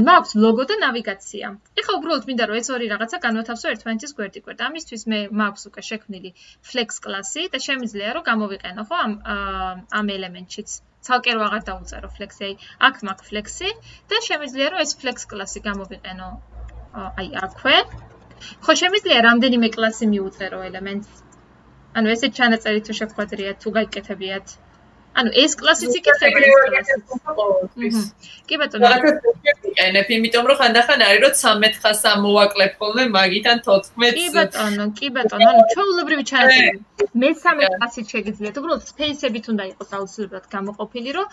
მაქვს ლოგო და ნავიგაცია. ეხლა უბრალოდ მინდა რომ ეს ორი რაღაცა განვათავსო ერთმანეთის გვერდიგვერდ. ამისთვის მე მაქვს უკვე შექმნილი flex კლასი და შემიძლია რომ გამოვიყენო ხო ამ ამ ელემენტშიც. ცალკე რო აღარ დავუწერო flex-ი, აქ მაქვს flex-ი და შემიძლია რომ ეს flex კლასი გამოვიყენო აი აქვე. ხო შემიძლია რამდენიმე კლასი მიუწერო ელემენტს. ანუ ესეთ ჩანაწერით თუ შეგხვედრიათ თუ გაიკეთებიათ. ანუ ეს კლასიც იკეთება ეს კლასიც. კი ბატონო. ვიყენებ, იმიტომ რომ ხანდახან არის რომ ცამეტ ხას ამოვაკლებ ხოლმე მაგიდან თოთხმეტს. კი ბატონო, კი ბატონო, ანუ ჩვეულებრივი ჩანაწერი. მესამე კლასით შეგიძლიათ, უბრალოდ space-ებით უნდა იყოს აუცილებლად გამოყოფილი, რომ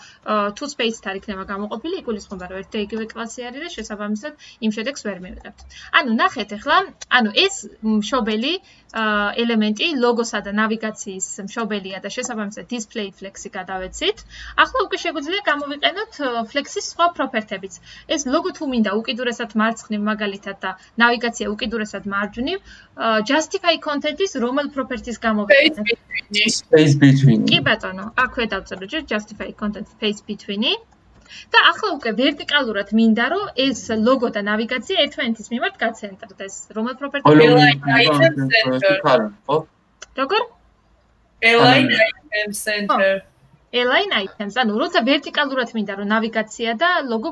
თუ space-ით არ იქნება გამოყოფილი, იგულისხმება რომ ერთ და იგივე კლასი არის და შესაბამისად იმ შედეგს ვერ მივიღებთ. ანუ ნახეთ ახლა, ანუ ეს მშობელი ელემენტი ლოგოსა და ნავიგაციის მშობელია და შესაბამისად display flex-ი გადავეცით. ახლა უკვე შეგვიძლია გამოვიყენოთ flex-ის სხვა პროპერტებიც. ეს ლოგო თუ მინდა უკიდურესად მარცხნივ მაგალითად და ნავიგაცია უკიდურესად მარჯვნივ, justify content-ის რომელ პროპერტის გამოვიყენოთ? Space between. კი ბატონო, აქვე დავწეროთ justify content space between-ი. და ახლა უკვე ვერტიკალურად მინდა რომ ეს ლოგო და ნავიგაცია ერთმანეთის მიმართ გაცენტრდეს. რომელ პროპერტია? როგორ? align item center. align items, ანუ როცა ვერტიკალურად მინდა რომ ნავიგაცია და ლოგო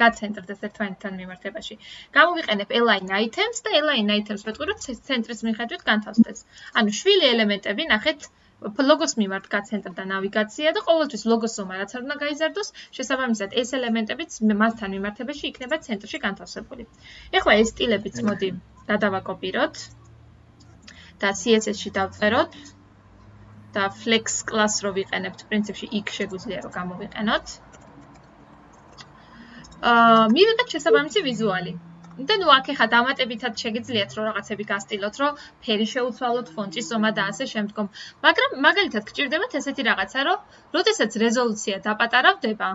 გაცენტრდეს ერთმანეთთან მიმართებაში. გამოვიყენებ align items და align items ვეთქვი რომ ცენტრის მიხედვით განთავსდეს. ანუ შვილი ელემენტები ნახეთ ლოგოს მიმართ გაცენტრდა ნავიგაცია და ყოველთვის ლოგოს ზომა რაც არ უნდა გაიზარდოს, შესაბამისად ეს ელემენტებიც მასთან მიმართებაში იქნება ცენტრში განთავსებული. ეხლა ეს სტილებიც მოდი გადავაკოპიროთ და C S S-ში დავწეროთ და flex class რო ვიყენებთ, პრინციპში იქ შეგვიძლია რომ გამოვიყენოთ. აა მივიღეთ შესაბამისი ვიზუალი. და ნუ აქ ეხა დამატებითად შეგიძლიათ რომ რაღაცები გასტილოთ, რომ ფერი შეუცვალოთ, ფონტის ზომა და ასე შემდგომ. მაგრამ მაგალითად გჭირდებათ ესეთი რაღაცა, რომ როდესაც რეზოლუცია დაპატარავდება,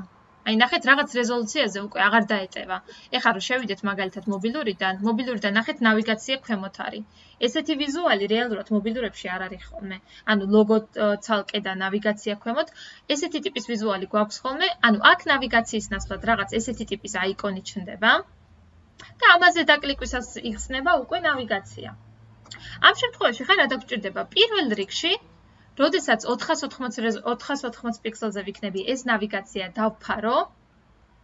აი ნახეთ რაღაც რეზოლუციაზე უკვე აღარ დაეტევა. ეხლა რომ შევიდეთ მაგალითად მობილურიდან, მობილურიდან ნახეთ ნავიგაცია ქვემოთ არის. ესეთი ვიზუალი რეალურად მობილურებში არ არის ხოლმე. ანუ ლოგო ცალკე და ნავიგაცია ქვემოთ, ესეთი ტიპის ვიზუალი გვაქვს ხოლმე. ანუ აქ ნავიგაციის ნაცვლად რაღაც ესეთი ტიპის აიკონი ჩნდება. და ამაზე დაკლიკვისას იხსნება უკვე ნავიგაცია. ამ შემთხვევაში ხა რა დაგჭირდება? პირველ რიგში, როდესაც ოთხას ოთხმოცი პიქსელზე ვიქნები ეს ნავიგაცია დავფარო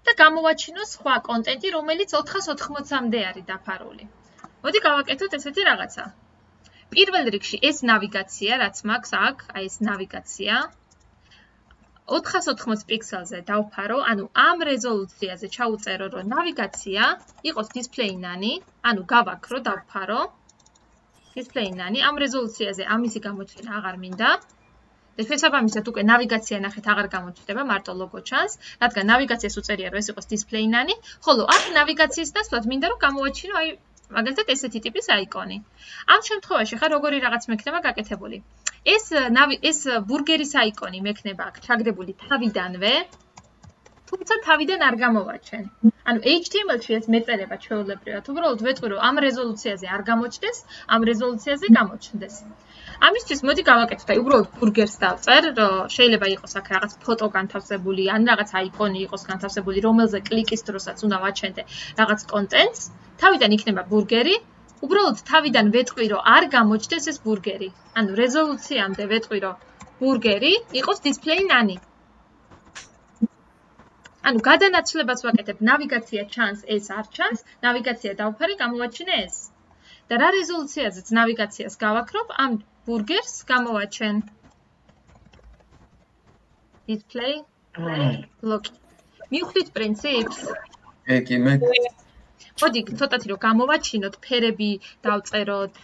და გამოვაჩინო სხვა კონტენტი, რომელიც ოთხას ოთხმოცამდე არის დაფარული. მოდი გავაკეთოთ ესეთი რაღაცა. პირველ რიგში ეს ნავიგაცია, რაც მაქვს აქ, აი ეს ნავიგაცია ოთხას ოთხმოცი პიქსელზე დავფარო, ანუ ამ რეზოლუციაზე ჩაუწერო, რომ ნავიგაცია იყოს display nani, ანუ გავაქრო, დავფარო display-ნანი, ამ რეზოლუციაზე ამისი გამოჩენა აღარ მინდა. და შესაბამისად უკვე ნავიგაცია ნახეთ აღარ გამოჩნდება, მარტო ლოგო ჩანს, რადგან ნავიგაციას უწერია რომ ეს იყოს display-ნანი, ხოლო აქ ნავიგაციის დასვლად მინდა რომ გამოვაჩინო აი მაგალითად ესეთი ტიპის აიკონი. ამ შემთხვევაში ხა როგორი რაღაც მექნება გაკეთებული. ეს ეს ბურგერის აიკონი მექნება აქ ჩაგდებული თავიდანვე, თუმცა თავიდან არ გამოვაჩენ. ანუ H T M L-ში ეს მეწერება ჩვეულებრივად, უბრალოდ ვეტყვი რომ ამ რეზოლუციაზე არ გამოჩნდეს, ამ რეზოლუციაზე გამოჩნდეს. ამისთვის მოდი გავაკეთოთ, აი უბრალოდ ბურგერს დავწერ, რომ შეიძლება იყოს აქ რაღაც ფოტო განთავსებული, ან რაღაც აიკონი იყოს განთავსებული, რომელზე კლიკის დროსაც უნდა ვაჩენდე რაღაც კონტენტს. თავიდან იქნება ბურგერი, უბრალოდ თავიდან ვეტყვი რომ არ გამოჩნდეს ეს ბურგერი. ანუ რეზოლუციამდე ვეტყვი რომ ბურგერი იყოს display-ნანი. ანუ გადანაცვლებას ვაკეთებ, ნავიგაცია ჩანს, ეს არ ჩანს, ნავიგაცია დავფარე, გამოვაჩინე ეს. და რა რეზოლუციაზეც ნავიგაციას გავაქრობ, ამ ბურგერს გამოვაჩენ. display ბლოკი. მივხვდით პრინციპს? ეკი მე მოდი ცოტათი რომ გამოვაჩინოთ, ფერები დავწეროთ,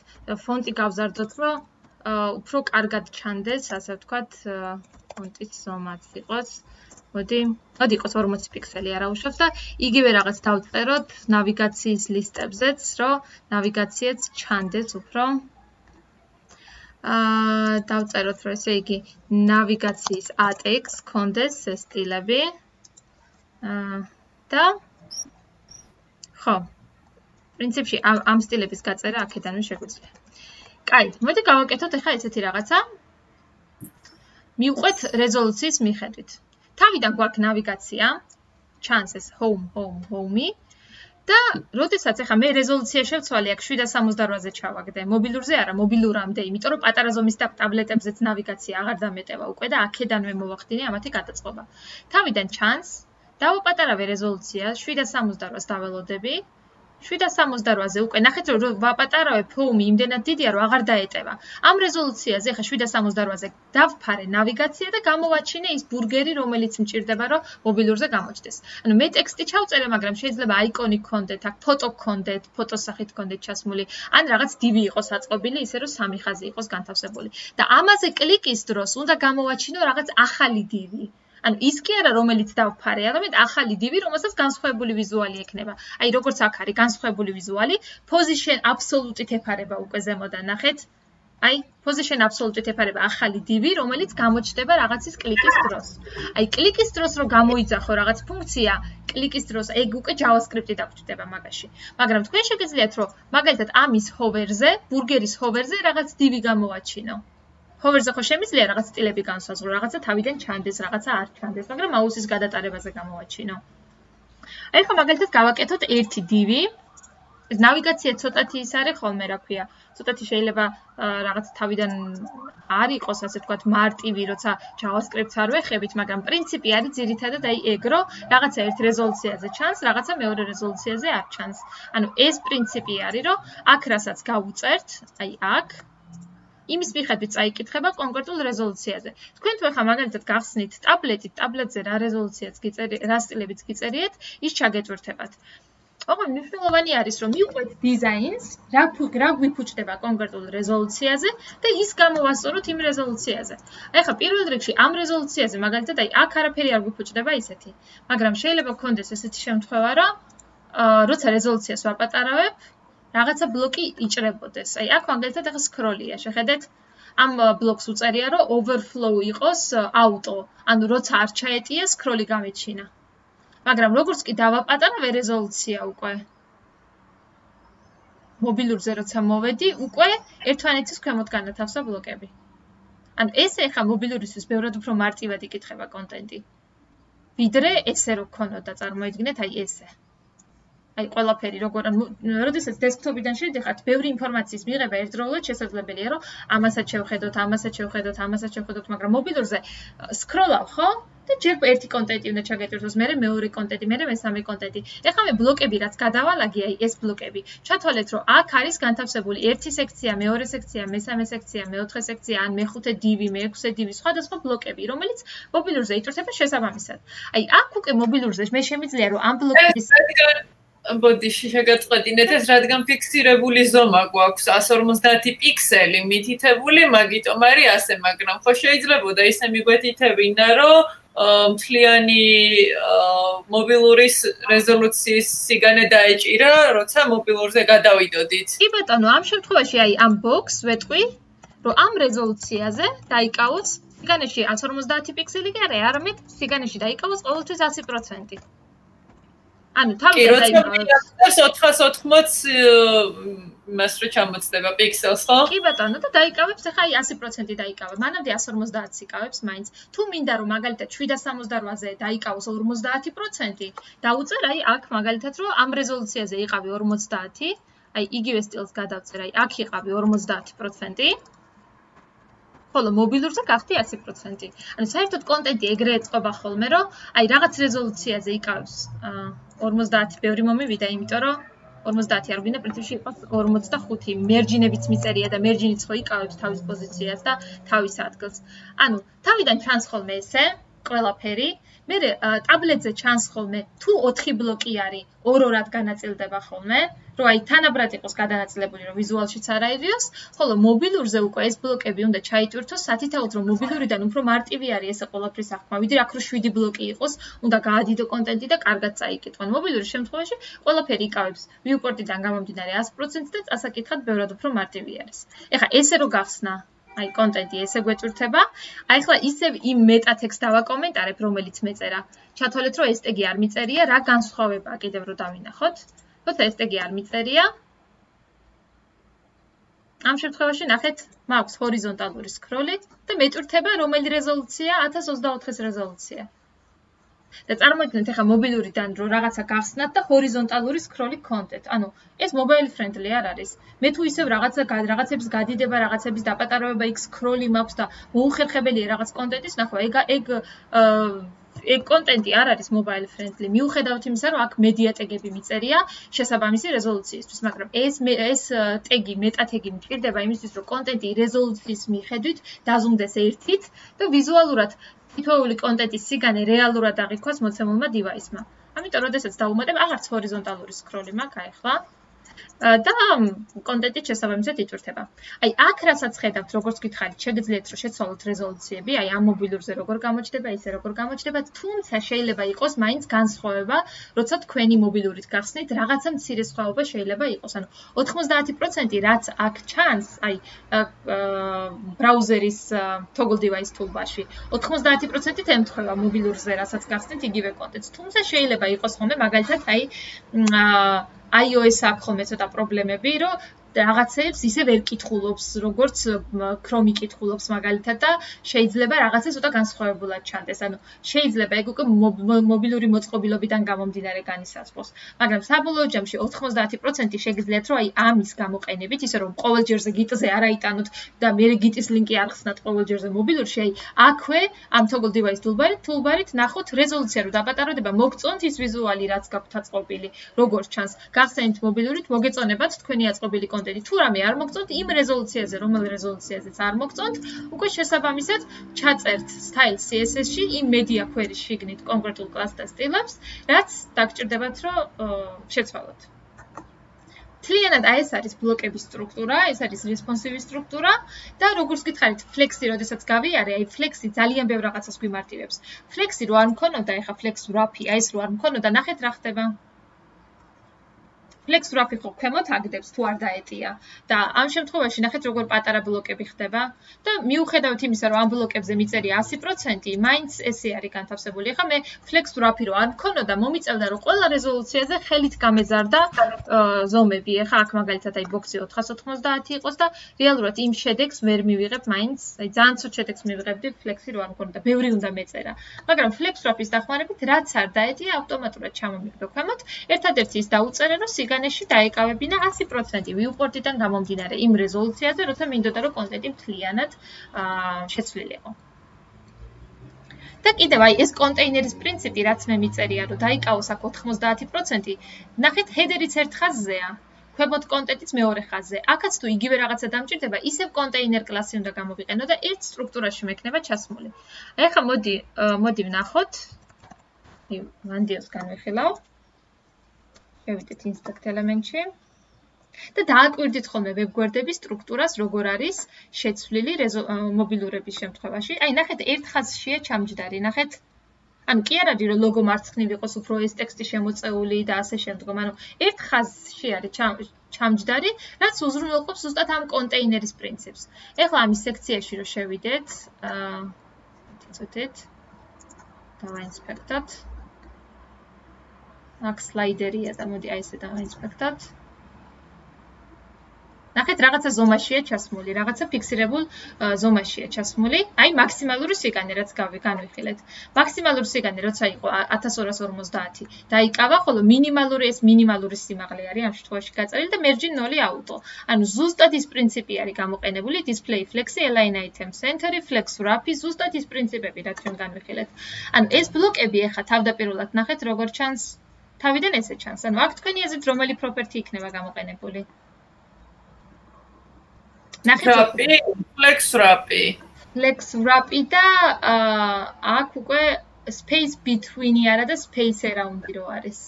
ფონტი გავზარდოთ, რომ უფრო კარგად ჩანდეს, ასე ვთქვათ, ფონტის ზომაც იყოს. მოდი, მოდი იყოს ორმოცი პიქსელი არა უშავს და იგივე რაღაც დავწეროთ ნავიგაციის ლისტებზეც, რომ ნავიგაციაც ჩანდეს უფრო. აა დავწეროთ, რომ ესე იგი ნავიგაციის ატექს კონდეს ეს სტილები. აა და ხო. პრინციპში ამ სტილების გაწერა აქედანვე შეგვიძლია. კაი, მოდი გავაკეთოთ ახლა ესეთი რაღაცა. მივყვეთ რეზოლუციის მიხედვით. თავიდან გვაქვს ნავიგაცია, ჩანს ეს home, home, home-ი და როდესაც ახლა მე რეზოლუცია შევცვალე აქ შვიდ სამოცდაოთხ-ზე ჩავაგდე, მობილურზე არა, მობილურამდე, იმიტომ რომ პატარა ზომის ტაბლეტებზეც ნავიგაცია აღარ დამეტევა უკვე და აქედანვე მოვახდინე ამათი გადაწყობა. თავიდან ჩანს, დავაპატარავე რეზოლუცია შვიდ სამოცდაოთხს დაველოდები. შვიდ სამოცდაოთხ-ზე უკვე ნახეთ რომ ვაპატარავებ home იმდენად დიდია რომ აღარ დაეტევა. ამ რეზოლუციაზე ხა შვიდ სამოცდაოთხ-ზე დავფარე ნავიგაცია და გამოვაჩინე ის ბურგერი რომელიც მჭირდება რომ მობილურზე გამოჩნდეს. ანუ მე ტექსტი ჩავწერე, მაგრამ შეიძლება აიკონი გქონდეთ, აქ ფოტო გქონდეთ, ფოტოს სახით გქონდეთ ჩასმული, ან რაღაც დივი იყოს აწყობილი, ისე რომ სამი ხაზი იყოს განთავსებული. და ამაზე კლიკის დროს უნდა გამოვაჩინო რაღაც ახალი დივი. ანუ ის კი არა რომელიც დავფარე, არამედ ახალი დივი, რომელსაც განსხვავებული ვიზუალი ექნება. აი როგორც აქ არის განსხვავებული ვიზუალი, position absolute-ით ეფარება უკვე ზემოდან ნახეთ. აი position absolute-ით ეფარება ახალი დივი, რომელიც გამოჩნდება რაღაცის კლიკის დროს. აი კლიკის დროს რო გამოიძახო რაღაც ფუნქცია, კლიკის დროს ეგ უკვე JavaScript-ი დაგჭირდება მაგაში. მაგრამ თქვენ შეგიძლიათ რომ მაგალითად ამის hover-ზე, ბურგერის hover-ზე რაღაც დივი გამოვაჩინო. hover-ზე ხო შემიძლია რაღაც სტილები განსაზღვრო, რაღაცა თავიდან ჩანდეს, რაღაცა არ ჩანდეს, მაგრამ მაუსის გადატარებაზე გამოვაჩინო. აი ხო მაგალითად გავაკეთოთ ერთი დივი. ეს ნავიგაცია ცოტათი ის არის ხოლმე, რა ქვია, ცოტათი შეიძლება რაღაც თავიდან არ იყოს, ასე ვთქვათ, მარტივი, როცა JavaScript-ს არ ვეხებით, მაგრამ პრინციპი არის ძირითადად აი ეგ, რომ რაღაცა ერთ რეზოლუციაზე ჩანს, რაღაცა მეორე რეზოლუციაზე არ ჩანს. ანუ ეს პრინციპი არის, რომ აქ რასაც გავუწერთ, აი აქ იმის მიხედვით წაიკითხება კონკრეტულ რეზოლუციაზე. თქვენ თუ ახლა მაგალითად გახსნით ტაბლეტით, ტაბლეტზე რა რეზოლუციაც გიწერიეთ, რა სტილებიც გიწერიეთ, ის ჩაგეტვირთებათ. ოღონდ მნიშვნელოვანი არის, რომ მივყვეთ დიზაინს, რა რა გვიფუჭდება კონკრეტულ რეზოლუციაზე და ის გამოვასწოროთ იმ რეზოლუციაზე. აი ხა პირველ რიგში ამ რეზოლუციაზე მაგალითად აი აქ არაფერი არ გვიფუჭდება ისეთი. მაგრამ შეიძლება გქონდეს ესეთი შემთხვევა, რომ როცა რეზოლუციას ვაპატარავებ, რაღაცა ბლოკი იჭრებოდეს. აი აქ მაგალითად ახლა სკროლია, შეხედეთ, ამ ბლოკს უწერია, რომ overflow იყოს auto, ანუ როცა არ ჩაეტია, სკროლი გამეჩინა. მაგრამ როგორც კი დავაპატარავე რეზოლუცია უკვე მობილურზე როცა მოვედი, უკვე ერთმანეთის ქვემოთ განათავსა ბლოკები. ანუ ესე ახლა მობილურისთვის ბევრად უფრო მარტივად იკითხება კონტენტი. ვიდრე ესე რო გქონოდა, წარმოიდგინეთ, აი ესე. აი ყველაფერი როგორ როდესაც დესკტოპიდან შედიხართ, ბევრი ინფორმაციის მიღება ერთდროულად შესაძლებელია, რომ ამასაც შევხედოთ, ამასაც შევხედოთ, ამასაც შევხედოთ, მაგრამ მობილურზე სკროლავ, ხო? და ჯერ ერთი კონტენტი უნდა ჩაგეტვირთოს, მერე მეორე კონტენტი, მერე მესამე კონტენტი. ეხლა მე ბლოკები რაც გადავალაგე, აი ეს ბლოკები. ჩათვალეთ, რომ აქ არის განთავსებული ერთი სექცია, მეორე სექცია, მესამე სექცია, მეოთხე სექცია, ან მეხუთე დივი, მეექვსე დივი, სხვადასხვა ბლოკები, რომელიც მობილურზე იწურთება შესაბამისად. აი აქ უკვე მობილურზე მე შემიძლია რომ ამ ბლოკების ბოდიში შეგაწყვეტინეთ ეს, რადგან ფიქსირებული ზომა გვაქვს ას ორმოცდაათი პიქსელი მითითებული, მაგიტომ არის ასე, მაგრამ ხო შეიძლებოდა ისე მიგვეთითებინა, რომ მთლიანი მობილური რეზოლუციის სიგანე დაეჭირა, როცა მობილურზე გადავიდოდით. კი ბატონო, ამ შემთხვევაში აი ამ ბოქს ვეტყვი, რომ ამ რეზოლუციაზე დაიკავოს სიგანეში ას ორმოცდაათი პიქსელი კი არა, არამედ სიგანეში დაიკავოს ყოველთვის ასი პროცენტი. ანუ თავიდან დაიკავოს ოთხას ოთხმოცი მას რო ჩამოწდება პიქსელს, ხო? კი ბატონო, და დაიკავებს ახლა აი ასი პროცენტი დაიკავა. მანამდე ას ორმოცდაათს იკავებს მაინც. თუ მინდა რომ მაგალითად შვიდას სამოცდარვაზე დაიკავოს ორმოცდაათი პროცენტი, დაუწერ აი აქ მაგალითად რომ ამ რეზოლუციაზე იყავი ორმოცდაათი, აი იგივე სტილს გადავწერ, აი აქ იყავი ორმოცდაათი პროცენტი. ხოლო მობილურზე გახდი ასი პროცენტი. ანუ საერთოდ კონტენტი ეგრე ეწყობა ხოლმე, რომ აი რაღაც რეზოლუციაზე იკავებს ორმოცდაათი ბევრი მომივიდა, იმიტომ რომ ორმოცდაათი არ გვინდა პრინციპში იყოს ორმოცდახუთი, მერჯინებიც მიწერია და მერჯინიც ხო იკავებს თავის პოზიციას და თავის ადგილს. ანუ თავიდან ჩანს ხოლმე ესე ყველაფერი, მე ტაბლეტზე ჩანს ხოლმე თუ ოთხი ბლოკი არის, ორ-ორად განაწილდება ხოლმე, რომ აი თანაბრად იყოს გადანაწილებული, რომ ვიზუალშიც არ აიღიოს, ხოლო მობილურზე უკვე ეს ბლოკები უნდა ჩაიტვირთოს, სათითაოდ რომ მობილურიდან უფრო მარტივი არის ესე ყველაფრის აღქმა, ვიდრე აქ რო შვიდი ბლოკი იყოს, უნდა გაადიდო კონტენტი და კარგად წაიკითხონ. მობილურის შემთხვევაში ყველაფერი იკავებს ვიუპორტიდან გამომდინარე ასი პროცენტი და წასაკითხად ბევრად უფრო მარტივი არის. ეხლა ესე რო გახსნა აი კონტენტი ესე გვეწურთება. აი ახლა ისევ იმ მეტატექსტს დავაკომენტარებ, რომელიც მეწერა. ჩათვალეთ, რომ ეს ტეგი არ მიწერია, რა განსხვავებაა კიდევ რო დავინახოთ. როცა ეს ტეგი არ მიწერია, ამ შემთხვევაში ნახეთ, მაქვს ჰორიზონტალური სკროლი და მეწურთება რომელი რეზოლუცია, ათას ოცდაოთხის რეზოლუცია. და წარმოიდგინეთ ახლა მობილურიდან რომ რაღაცა გახსნათ და ჰორიზონტალური სკროლი გქონდეთ. ანუ ეს mobile friendly არ არის. მე თუ ისევ რაღაცა რაღაცების გადიდება, რაღაცების დაპატარავება, იქ სკროლი მაქვს და მოუხერხებელია რაღაც კონტენტის ნახვა. ეგ ეგ ეგ კონტენტი არ არის mobile friendly. მიუხედავად იმისა, რომ აქ media ტეგები მიწერია შესაბამისი რეზოლუციისთვის, მაგრამ ეს ეს ტეგი, meta ტეგი მჭირდება იმისთვის, რომ კონტენტი რეზოლუციის მიხედვით დაზუმდეს ერთით და ვიზუალურად თითოეული კონტენტის სიგანე რეალურად აღიქواس მოცემულმა დივაისმა. ამიტომ, როდესაც დავუმატებ, აღარც ჰორიზონტალური სკროლი მაქვს ახლა და კონტენტი შესაბამისად იწურთება. აი, აქ რასაც ხედავთ, როგორც გითხარით, შეგიძლიათ რომ შეცვალოთ რეზოლუციები, აი ამ მობილურზე როგორ გამოჩნდება, ისე როგორ გამოჩნდება, თუმცა შეიძლება იყოს მაინც განსხვავება, როცა თქვენი მობილურით გახსნით, რაღაცა მცირე სხვაობა შეიძლება იყოს. ანუ ოთხმოცდაათი პროცენტი რაც აქ ჩანს, აი ბრაუზერის toggle device toolbar-ში, ოთხმოცდაათი პროცენტით ემთხვევა მობილურზე, რასაც გახსნით იგივე კონტენტს. თუმცა შეიძლება იყოს ხოლმე მაგალითად აი iOS აქ ხოლმე ცოტა პრობლემები, რომ რაღაცებს ისე ვერ კითხულობს, როგორც Chrome კითხულობს მაგალითად და შეიძლება რაღაცა ცოტა განსხვავებულად ჩანდეს. ანუ შეიძლება ეგ უკვე მობილური მოწყობილობიდან გამომდინარე განისაზღვროს. მაგრამ საბოლოო ჯამში ოთხმოცდაათი პროცენტი შეგიძლიათ რომ აი ამის გამოყენებით, ისე რომ ყოველ ჯერზე გიტზე არ აიტანოთ და მე გიტის ლინკი არ ხსნათ ყოველ ჯერზე მობილურში, აი აქვე ამ toggle device toolbar-ით, toolbar-ით ნახოთ რეზოლუცია რო დაპატაროდება, მოგწონთ ის ვიზუალი, რაც გაქვთ აწყობილი, როგორც ჩანს. გახსენით მობილურით, მოგეწონებათ თქვენი აწყობილი კონტენტი. თუ რამე არ მოგწონთ იმ რეზოლუციაზე, რომელ რეზოლუციაზეც არ მოგწონთ, უკვე შესაბამისად ჩაწერთ style C S S-ში იმ media query-ში შიგნით კონკრეტულ კლასს და სტილებს, რაც დაგჭირდებათ რომ შეცვალოთ. მთლიანად აი ეს არის ბლოკების სტრუქტურა, ეს არის responsive სტრუქტურა და როგორც გითხარით, flex-ი, როდესაც გავიარე, აი flex-ი ძალიან ბევრ რაღაცას გვიმარტივებს. flex-ი რო არ მქონოდა, ეხა flex wrap-ი, აი ეს რო არ მქონოდა, ნახეთ რა ხდება. flex wrap-ი ხო ქვემოთ აგდებს თუ არ დაეტია და ამ შემთხვევაში ნახეთ როგორ პატარა ბლოკები ხდება და მიუხედავად იმისა რომ ამ ბლოკებზე მიწერია ასი პროცენტი, მაინც ესე არის განთავსებული. ეხლა მე flex wrap-ი რო არ მქონოდა, მომიწევდა რომ ყველა რეზოლუციაზე ხელით გამეზარდა ზომები. ეხლა აქ მაგალითად აი ბოქსი ოთხას ოცდაოთხი იყოს და რეალურად იმ შედეგს ვერ მივიღებ მაინც, აი ძალიან ცუდ შედეგს მივიღებდი flex-ი რო არ მქონოდა, ბევრი უნდა მეწერა. მაგრამ flex wrap-ის დახმარებით რაც არ დაეტია, ავტომატურად ჩამომიგდო ქვემოთ. ერთადერთი ის დაუწერე რომ სიგანეში დაეკავებინა ასი პროცენტი ვიუპორტიდან გამომდინარე იმ რეზოლუციაზე, როცა მინდოდა რომ კონტენტი მთლიანად შეცვლილიყო. და კიდევ აი ეს კონტეინერის პრინციპი, რაც მე მიწერია, რომ დაიკავოს აქ ოთხმოცდაათი პროცენტი, ნახეთ ჰედერიც ერთ ხაზზეა, ქვემოთ კონტენტიც მეორე ხაზზე. აქაც თუ იგივე რაღაცა დამჭირდება, ისევ კონტეინერ კლასი უნდა გამოვიყენო და ერთ სტრუქტურაში მექნება ჩასმული. აი ახლა მოდი მოდი ვნახოთ. მანდიოს განვიხილავ. შევიდეთ inspect element-ში. და დააკვირდით ხოლმე ვებგვერდების სტრუქტურას, როგორ არის შეცვლილი მობილურების შემთხვევაში. აი, ნახეთ, ერთ ხაზშია ჩამჯდარი, ნახეთ. ანუ კი არ არის რომ ლოგო მარცხნივ იყოს უფრო ეს ტექსტი შემოწეული და ასე შემდგომ. ანუ ერთ ხაზში არის ჩამჯდარი, რაც უზრუნველყოფს ზუსტად ამ კონტეინერის პრინციპს. ეხლა ამის სექციაში რომ შევიდეთ, აა იცოდეთ. დავაინსპექტოთ. აქ სლაიდერია და მოდი აი ესე დავაინსპექტოთ. ნახეთ, რაღაცა ზომაშია ჩასმული, რაღაცა ფიქსირებულ ზომაშია ჩასმული. აი, მაქსიმალური სიგანე, რაც განვიხილეთ. მაქსიმალური სიგანე, როცა იყო ათას ორას ორმოცდაათი, დაიკავა, ხოლო მინიმალური ეს მინიმალური სიმაღლე არის ამ შემთხვევაში გაწერილი და merge ნოლი auto. ანუ ზუსტად ის პრინციპი არის გამოყენებული display flexi, align item center, flex wrap-ი, ზუსტად ის პრინციპები, რაც ჩვენ განვიხილეთ. ანუ ეს ბლოკები ახლა თავდაპირველად ნახეთ, როგორ ჩანს, თავიდან ესე ჩანს. ანუ აქ თქვენი აზრით რომელი property იქნება გამოყენებული? Wrap-ი, flex wrap-ი. Flex wrap-ი და აქ უკვე space between-ი არა და space around-ი რო არის.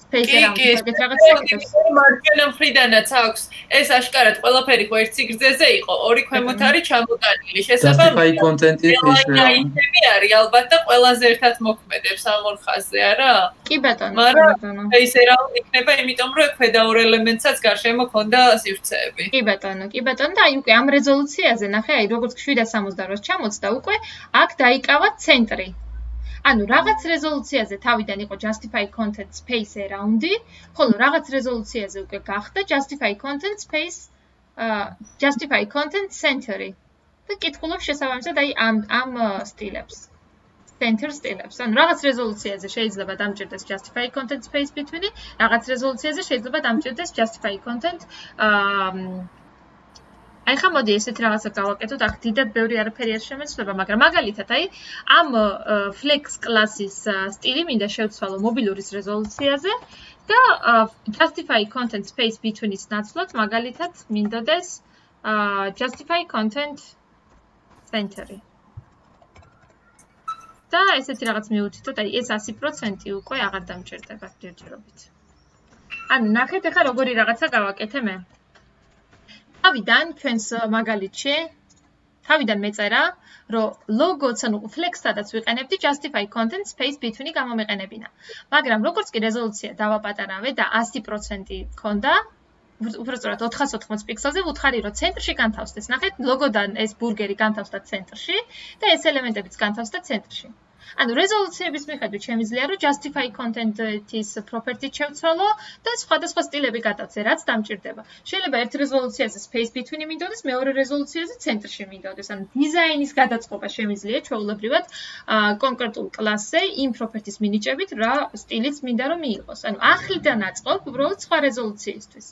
Space around-ი რაღაც ეკეთებს. მარჯვენა მხრიდანაც აქვს. ეს აშკარად ყველაფერი ხო ერთ სიგრძეზე იყო, ორი ქვემოთ არის ჩამოტანილი. შესაბამისად, content-ი ის არის ალბათ და ყველაზე ერთად მოქმედებს ამ ორ ხაზზე, არა? კი ბატონო, მაგრამ space around იქნება, იმიტომ რომ ქვედა ორ ელემენტსაც გარშემო ქონდა სივრცეები. კი ბატონო, კი ბატონო და აი უკვე ამ რეზოლუციაზე ნახე, აი როგორც შვიდას სამოცდაროს ჩამოწდა უკვე, აქ დაიკავა ცენტრი. ანუ რაღაც რეზოლუციაზე თავიდან იყო justify content space around-ი, ხოლო რაღაც რეზოლუციაზე უკვე გახდა justify content space justify content center-ი. და კითხულობ შესაბამისად აი ამ ამ სტილებს. center სტილებს. ანუ რაღაც რეზოლუციაზე შეიძლება დამჭირდეს justify content space between-ი, რაღაც რეზოლუციაზე შეიძლება დამჭირდეს justify content აა აი ხა მოდი ესეთ რაღაცა გავაკეთოთ, აქ დიდად ბევრი არაფერი არ შემეცვლება, მაგრამ მაგალითად, აი ამ flex class-ის სტილი მინდა შევცვალო მობილურის რეზოლუციაზე და justify content space between-ის ნაცვლად მაგალითად მინდოდეს justify content center-ი. და ესეთი რაღაც მივუთითოთ, აი ეს ასი პროცენტი უკვე აღარ დამჭირდება ჯერჯერობით. ანუ ნახეთ ახლა როგორი რაღაცა გავაკეთე მე. თავიდან ჩვენს მაგალითში თავიდან მეწერა, რომ ლოგოც ანუ flex-სადაც ვიყენებდი justify content space between-ი გამომეყენებინა. მაგრამ როგორც კი რეზოლუცია დავაპატარავე და ასი პროცენტი მქონდა, უბრალოდ ოთხას ოთხმოც პიქსელზე ვუთხარი, რომ ცენტრში განთავსდეს. ნახეთ, ლოგოდან ეს ბურგერი განთავსდა ცენტრში და ეს ელემენტებიც განთავსდა ცენტრში. ანუ რეზოლუციების მიხედვით შემიძლია რომ justify content-ის property შევცვალო და სხვადასხვა სტილები გადავწე, რაც დამჭირდება. შეიძლება ერთ რეზოლუციაზე space between-ი მინდოდეს, მეორე რეზოლუციაზე ცენტრში მინდოდეს. ანუ დიზაინის გადაწყობა შემიძლია ჩვეულებრივად კონკრეტულ კლასზე იმ property-ის მინიჭებით, რა სტილიც მინდა რომ მიიღოს. ანუ ახლიდან აწყობ უბრალოდ სხვა რეზოლუციისთვის.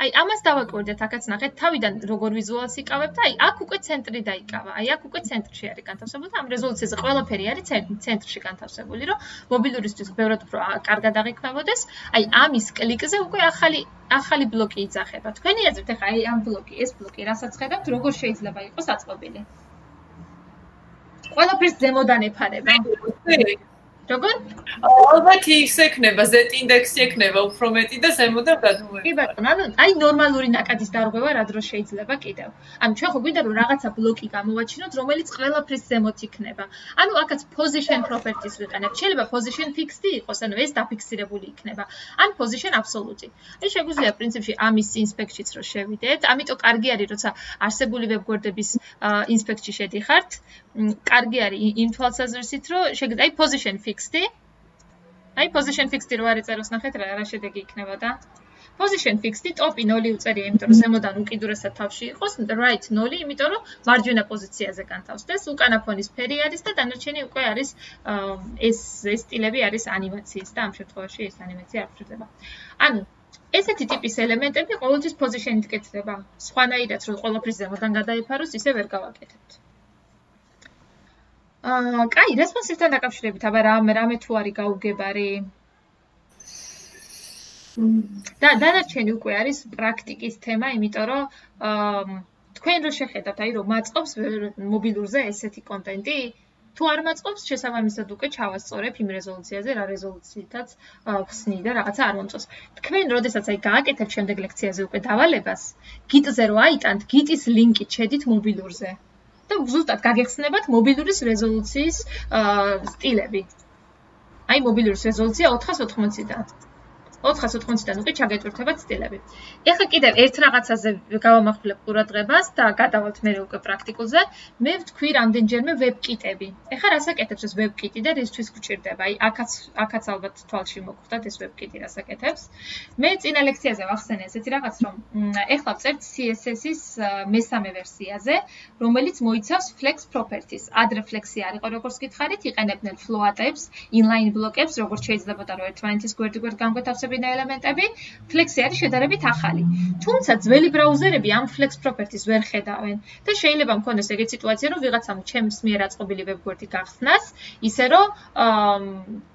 აი ამას დავაკვირდეთ, აქაც ნახეთ, თავიდან როგორ ვიზუალს იკავებ და აი აქ უკვე ცენტრი დაიკავა. აი აქ უკვე ცენტრში არის განთავსებული და ამ რეზოლუციაზე ყველაფერი არის ცენტრში განთავსებული, რომ მობილურისთვის ბევრად უფრო კარგად აღიქმებოდეს. აი ამის კლიკზე უკვე ახალი ახალი ბლოკი იძახება. თქვენი აზრით ახლა აი ამ ბლოკი, ეს ბლოკი, რასაც ხედავთ, როგორ შეიძლება იყოს აწყობილი? ყველაფერს ზემოდან ეფარება. როგორ? ალბათ ის ექნება, Z ინდექსი ექნება უფრო მეტი და ზემოდან გადმოება. კი ბატონო, ანუ აი ნორმალური ნაკადის დარღვევა რა დროს შეიძლება კიდევ. ანუ ჩვენ ხო გვინდა რომ რაღაცა ბლოკი გამოვაჩინოთ, რომელიც ყველაფრის ზემოთ იქნება. ანუ აქაც position properties ვიყენებთ. შეიძლება position fixed იყოს, ანუ ეს დაფიქსირებული იქნება. ან position absolute. აი შეგვიძლია პრინციპში ამის inspect-შიც რო შევიდეთ. ამიტომ კარგი არის, როცა არსებული ვებგვერდების inspect-ში შედიხართ. კარგი არის იმ თვალსაზრისით, რომ შეგიძლია აი position fixed-ი. აი position fixed-ი რო არ ეწეროს, ნახეთ რა რა შედეგი იქნება და position fixed-ი ტოპი ნოლი უწერია, იმიტომ რომ ზემოდან უკიდურესად თავში იყოს, right ნოლი, იმიტომ რომ მარჯვენა პოზიციაზე განთავსდეს, უკანა ფონის ფერი არის და დანარჩენი უკვე არის ეს ეს სტილები არის ანიმაციის და ამ შემთხვევაში ეს ანიმაცია არ გვჭირდება. ანუ ესეთი ტიპის ელემენტები ყოველთვის position-ით კეთდება. სხვანაირად რომ ყველაფრის ზემოდან გადაიფაროს, ისე ვერ გავაკეთებთ. აა, კაი, responsive-თან დაკავშირებით, აბა რა რამე თუ არის გაუგებარი? და დანარჩენი უკვე არის პრაქტიკის თემა, იმიტომ რომ აა თქვენ რო შეხედავთ, აი რომ მაწყობს მობილურზე ესეთი კონტენტი, თუ არ მაწყობს, შესაბამისად უკვე ჩავასწორებ იმ რეზოლუციაზე, რა რეზოლუციითაც ვხსნი და რაღაცა არ მომწონს. თქვენ, როდესაც აი გააკეთებთ შემდეგ ლექციაზე უკვე დავალებას, გიტზე რო აიტანთ, გიტის ლინკით შედით მობილურზე. და ზუსტად გაგეხსნებათ მობილურის რეზოლუციის სტილები. აი მობილურის რეზოლუცია ოთხას ოთხმოცდან. ოთხას ოთხმოცდან უკვე ჩაგეტვირთებათ სტილები. ეხლა კიდევ ერთ რაღაცაზე გავამახვილებ ყურადღებას და გადავალთ მე უკვე პრაქტიკულზე. მე ვთქვი რამდენჯერმე ვებკიტები. ეხლა რას აკეთებს ეს ვებკიტი და რისთვის გვჭირდება? აი აქაც აქაც ალბათ თვალში მოგხვდათ ეს ვებკიტი რას აკეთებს. მე წინა ლექციაზე ვახსენე ესეთი რაღაც რომ ეხლა ვწერთ C S S-ის მესამე ვერსიაზე, რომელიც მოიცავს flex properties. ადრე flex-ი არ იყო როგორც გითხარით, იყენებდნენ float-ებს, inline block-ებს, როგორც შეიძლება და რომ ერთმანეთის გვერდ-გვერდ გამკვეთავსებინა ელემენტები, flex-ი არის შედარებით ახალი. თუმცა ძველი ბრაუზერები ამ flex properties ვერ ხედავენ და შეიძლება მქონდეს ეგეთი სიტუაცია, რომ ვიღაცამ ჩემს მიერ აწყობილი ვებგვერდი გახსნას, ისე რომ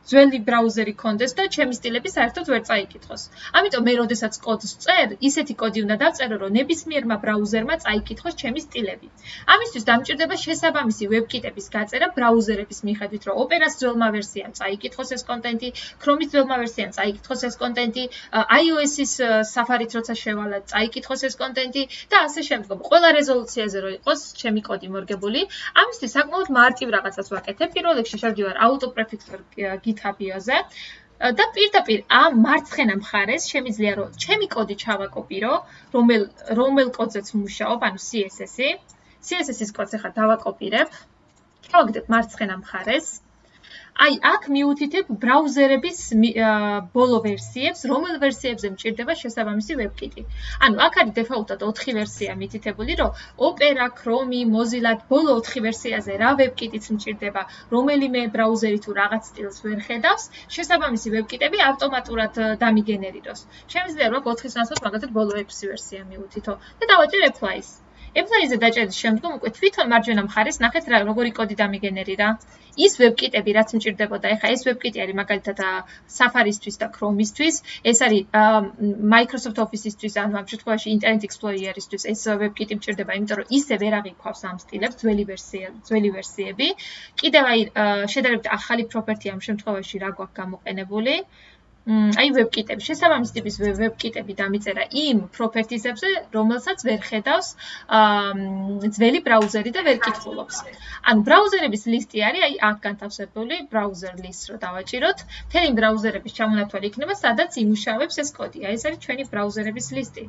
ძველი ბრაუზერი კონდეს და ჩემი სტილები საერთოდ ვერ წაიკითხოს. ამიტომ მე როდესაც კოდს წერ, ისეთი კოდი უნდა დავწერო, რომ ნებისმიერმა ბრაუზერმა წაიკითხოს ჩემი სტილები. ამისთვის დამჭირდება შესაბამისი ვებკიტების გაწერა ბრაუზერების მიხედვით, რომ ოპერას ძველმა ვერსიამ წაიკითხოს ეს კონტენტი, Chrome-ის ძველმა ვერსიამ წაიკითხოს ეს კონტენტი, iOS-ის Safari-თ როცა შევალა, წაიკითხოს ეს კონტენტი და ასე შემდგომ. ყველა რეზოლუციაზე რო იყოს ჩემი კოდი მორგებული, ამისთვის საკმაოდ მარტივ რაღაცას ვაკეთებ. პირველ რიგში შევდივარ AutoPrefix-ორ GitHub-ზე და პირდაპირ ამ მარცხენა მხარეს შემიძლია რომ ჩემი კოდი ჩავაკოპირო, რომელ რომელ კოდზეც ვმუშაობ, ანუ C S S-ი. C S S-ის კოდს ახლა დავაკოპირებ. ჩავაგდებ მარცხენა მხარეს. აი აქ მიუთითებ ბრაუზერების ბოლო ვერსიებს, რომელ ვერსიებზე მჭირდება შესაბამისი ვებკიტი. ანუ აქ არის დეფაულტად ოთხი ვერსია მითითებული, რომ Opera, Chrome, Mozilla ბოლო ოთხი ვერსიაზე რა ვებკიტიც მჭირდება, რომელიმე ბრაუზერი თუ რაღაც სტილს ვერ ხედავს, შესაბამისი ვებკიტები ავტომატურად დამიგენერიროს. შემიძლია რომ ოთხის ნაცვლად მაგალითად ბოლო ექვსი ვერსია მიუთითო და დავაჭერ apply-ს. Apply-ზე დაჭერის შემდგომ უკვე თვითონ მარჯვენა მხარეს ნახეთ რა როგორი კოდი დამიგენერირა. ის ვებკიტები რაც მჭირდებოდა, ეხლა ეს ვებკიტი არის მაგალითად Safari-ისთვის და Chrome-ისთვის, ეს არის Microsoft Office-ისთვის, ანუ ამ შემთხვევაში Internet Explorer-ისთვის ეს ვებკიტი მჭირდება, იმიტომ რომ ისე ვერ აღიქვავს ამ სტილებს ძველი ვერსია, ძველი ვერსიები. კიდევ აი შედარებით ახალი პროპერტი ამ შემთხვევაში რა გვაქვს გამოყენებული. აი ვებკიტები, შესაბამის ტიპის ვებკიტები დამიწერა იმ პროპერტიზებზე, რომელსაც ვერ ხედავს ძველი ბრაუზერი და ვერ კითხულობს. ანუ ბრაუზერების ლისტი არის აი აქ განთავსებული ბრაუზერ list რო დავაჭიროთ, მთელი ბრაუზერების ჩამონათვალი იქნება, სადაც იმუშავებს ეს კოდი. აი ეს არის ჩვენი ბრაუზერების ლისტი.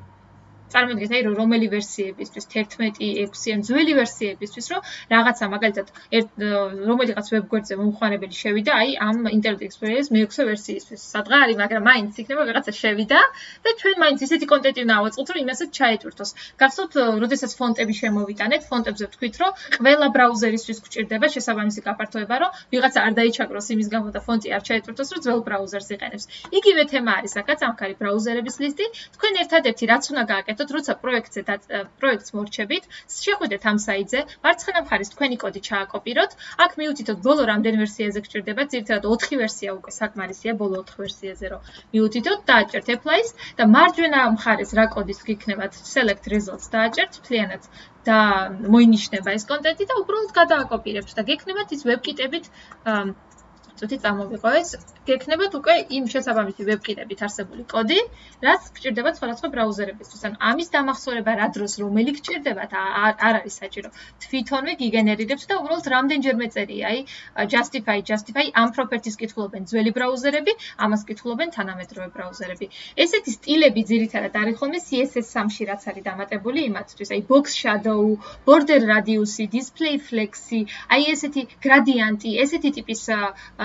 წარმოგიდგენთ აი რომელი ვერსიებისთვის თერთმეტი ექვსი ან ძველი ვერსიებისთვის რომ რაღაცა მაგალითად რომელიღაც ვებგვერდზე მომხმარებელი შევიდა აი ამ Internet Explorer-ის მეექვსე ვერსიისთვის სადღა არის მაგრამ მაინც იქნება რაღაცა შევიდა და ჩვენ მაინც ისეთი კონტენტი უნდა ავაწყოთ რომ იმასაც ჩაეტვირთოს გახსოვთ როდესაც ფონტები შემოვიტანეთ ფონტებზე ვთქვით რომ ყველა ბრაუზერისთვის გვჭირდება შესაბამისი გაფართოება რომ ვიღაცა არ დაიჩაგროს იმის გამო და ფონტი არ ჩაეტვირთოს რომ ძველ ბრაუზერს იყენებს იგივე თემა არის აქაც ამ ხარი ბრაუზერების ლისტი თქვენ ერთადერთი რაც უნდა გააკეთოთ როცა პროექტზე და პროექტს მორჩებით, შეხვიდეთ ამ საიტზე, მარცხენა მხარეს თქვენი კოდი ჩააკოპიროთ, აქ მიუთითოთ ბოლო რამდენ ვერსიაზე გჭირდება, ძირითადად ოთხი ვერსია უკვე საკმარისია ბოლო ოთხ ვერსიაზე რომ მიუთითოთ, დააჭერთ apply-ს და მარჯვენა მხარეს რა კოდის გიქნებათ select results დააჭერთ მთლიანად და მოინიშნება ეს კონტენტი და უბრალოდ გადააკოპირებთ და გექნებათ ის ვებკიტებით წუთი წამოვიყვეს, გექნებათ უკვე იმ შესაბამისი ვებკიტებით არსებული კოდი, რაც გჭირდებათ სხვადასხვა ბრაუზერებისთვის. ან ამის დამახსოვრება რა დროს რომელი გჭირდებათ, არ არის საჭირო. თვითონვე გიგენერირებთ და უბრალოდ რამდენჯერმე წერია, აი justify, justify ამ პროპერტის კითხულობენ ძველი ბრაუზერები, ამას კითხულობენ თანამედროვე ბრაუზერები. ესეთი სტილები ძირითადად არის ხოლმე C S S სამში რაც არის დამატებული იმათთვის, აი box shadow, border radius-ი, display flex-ი, აი ესეთი gradient-ი, ესეთი ტიპის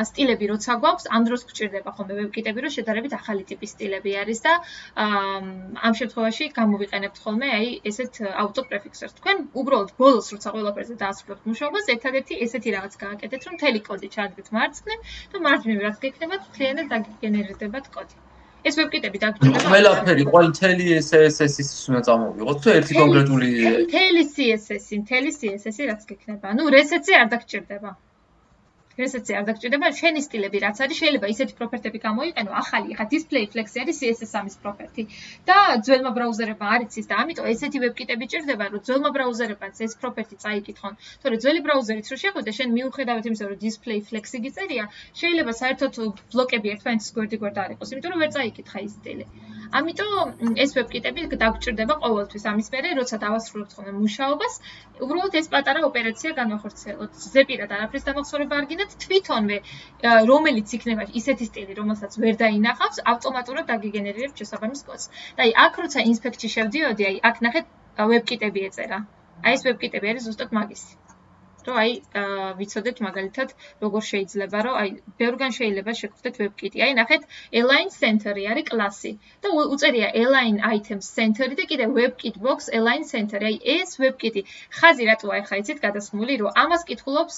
სტილები როცა გვაქვს, ამ დროს გვჭირდება ხოლმე ვებკიტები, რომ შედარებით ახალი ტიპის სტილები არის და ამ შემთხვევაში გამოვიყენებთ ხოლმე აი ესეთ AutoPrefix-ს. თქვენ უბრალოდ ბოლოს როცა ყველაფერზე დაასრულებთ მუშაობას, ერთადერთი ესეთი რაღაც გააკეთეთ, რომ მთელი კოდი ჩააგდეთ მარცხნივ და მარჯვნივ რაც გექნებათ, მთლიანად დაგიგენერირდებათ კოდი. ეს ვებკიტები დაგჭირდება. ყველაფერი, ყოველ მთელი C S S-ის უნდა წამოვიღოთ, თუ ერთი კონკრეტული მთელი C S S-ი, მთელი C S S-ი რაც გექნება. ანუ რესეტზე არ დაგჭირდება. რესეცი არ დაგჭირდება, შენი სტილები რაც არის, შეიძლება ისეთი პროფერტები გამოიყენო, ახალი, ხა display flex-ი არის C S S სამის პროფერტი. და ძველმა ბრაუზერებმა არ იცის და ამიტომ ესეთი ვებკიტები ჭირდება, რომ ძველმა ბრაუზერებმაც ეს პროფერტი წაიკითხონ. თორე ძველი ბრაუზერით რო შეხვიდე, შენ მიუხედავად იმისა, რომ display flex-ი გიწერია, შეიძლება საერთოდ ბლოკები ერთმანეთის გვერდ-გვერდ არ იყოს, იმიტომ რომ ვერ წაიკითხა ის სტილი. ამიტომ ეს ვებკიტები დაგჭირდება ყოველთვის ამის მერე, როცა დავასრულებთ ხოლმე მუშაობას, უბრალოდ ეს პატარა ოპერაცია განვახორციელოთ. ზეპირად არაფრის დამახსოვრება არ გინდათ, თვითონვე რომელიც იქნება ისეთი სტილი, რომელსაც ვერ დაინახავს, ავტომატურად დაგიგენერირებს შესაბამის კოდს. და აი აქ როცა ინსპექტში შევდიოდი, აი აქ ნახეთ ვებკიტები ეწერა. აი ეს ვებკიტები არის ზუსტად მაგისი. რომ აი ვიცოდეთ მაგალითად როგორ შეიძლება რომ აი ბევრგან შეიძლება შეგხვდეთ ვებკიტი. აი ნახეთ align center-ი არის კლასი და უწერია align items center-ი და კიდე webkit box align center-ი. აი ეს ვებკიტი ხაზი რატოა ახლა იცით გადასმული რომ ამას კითხულობს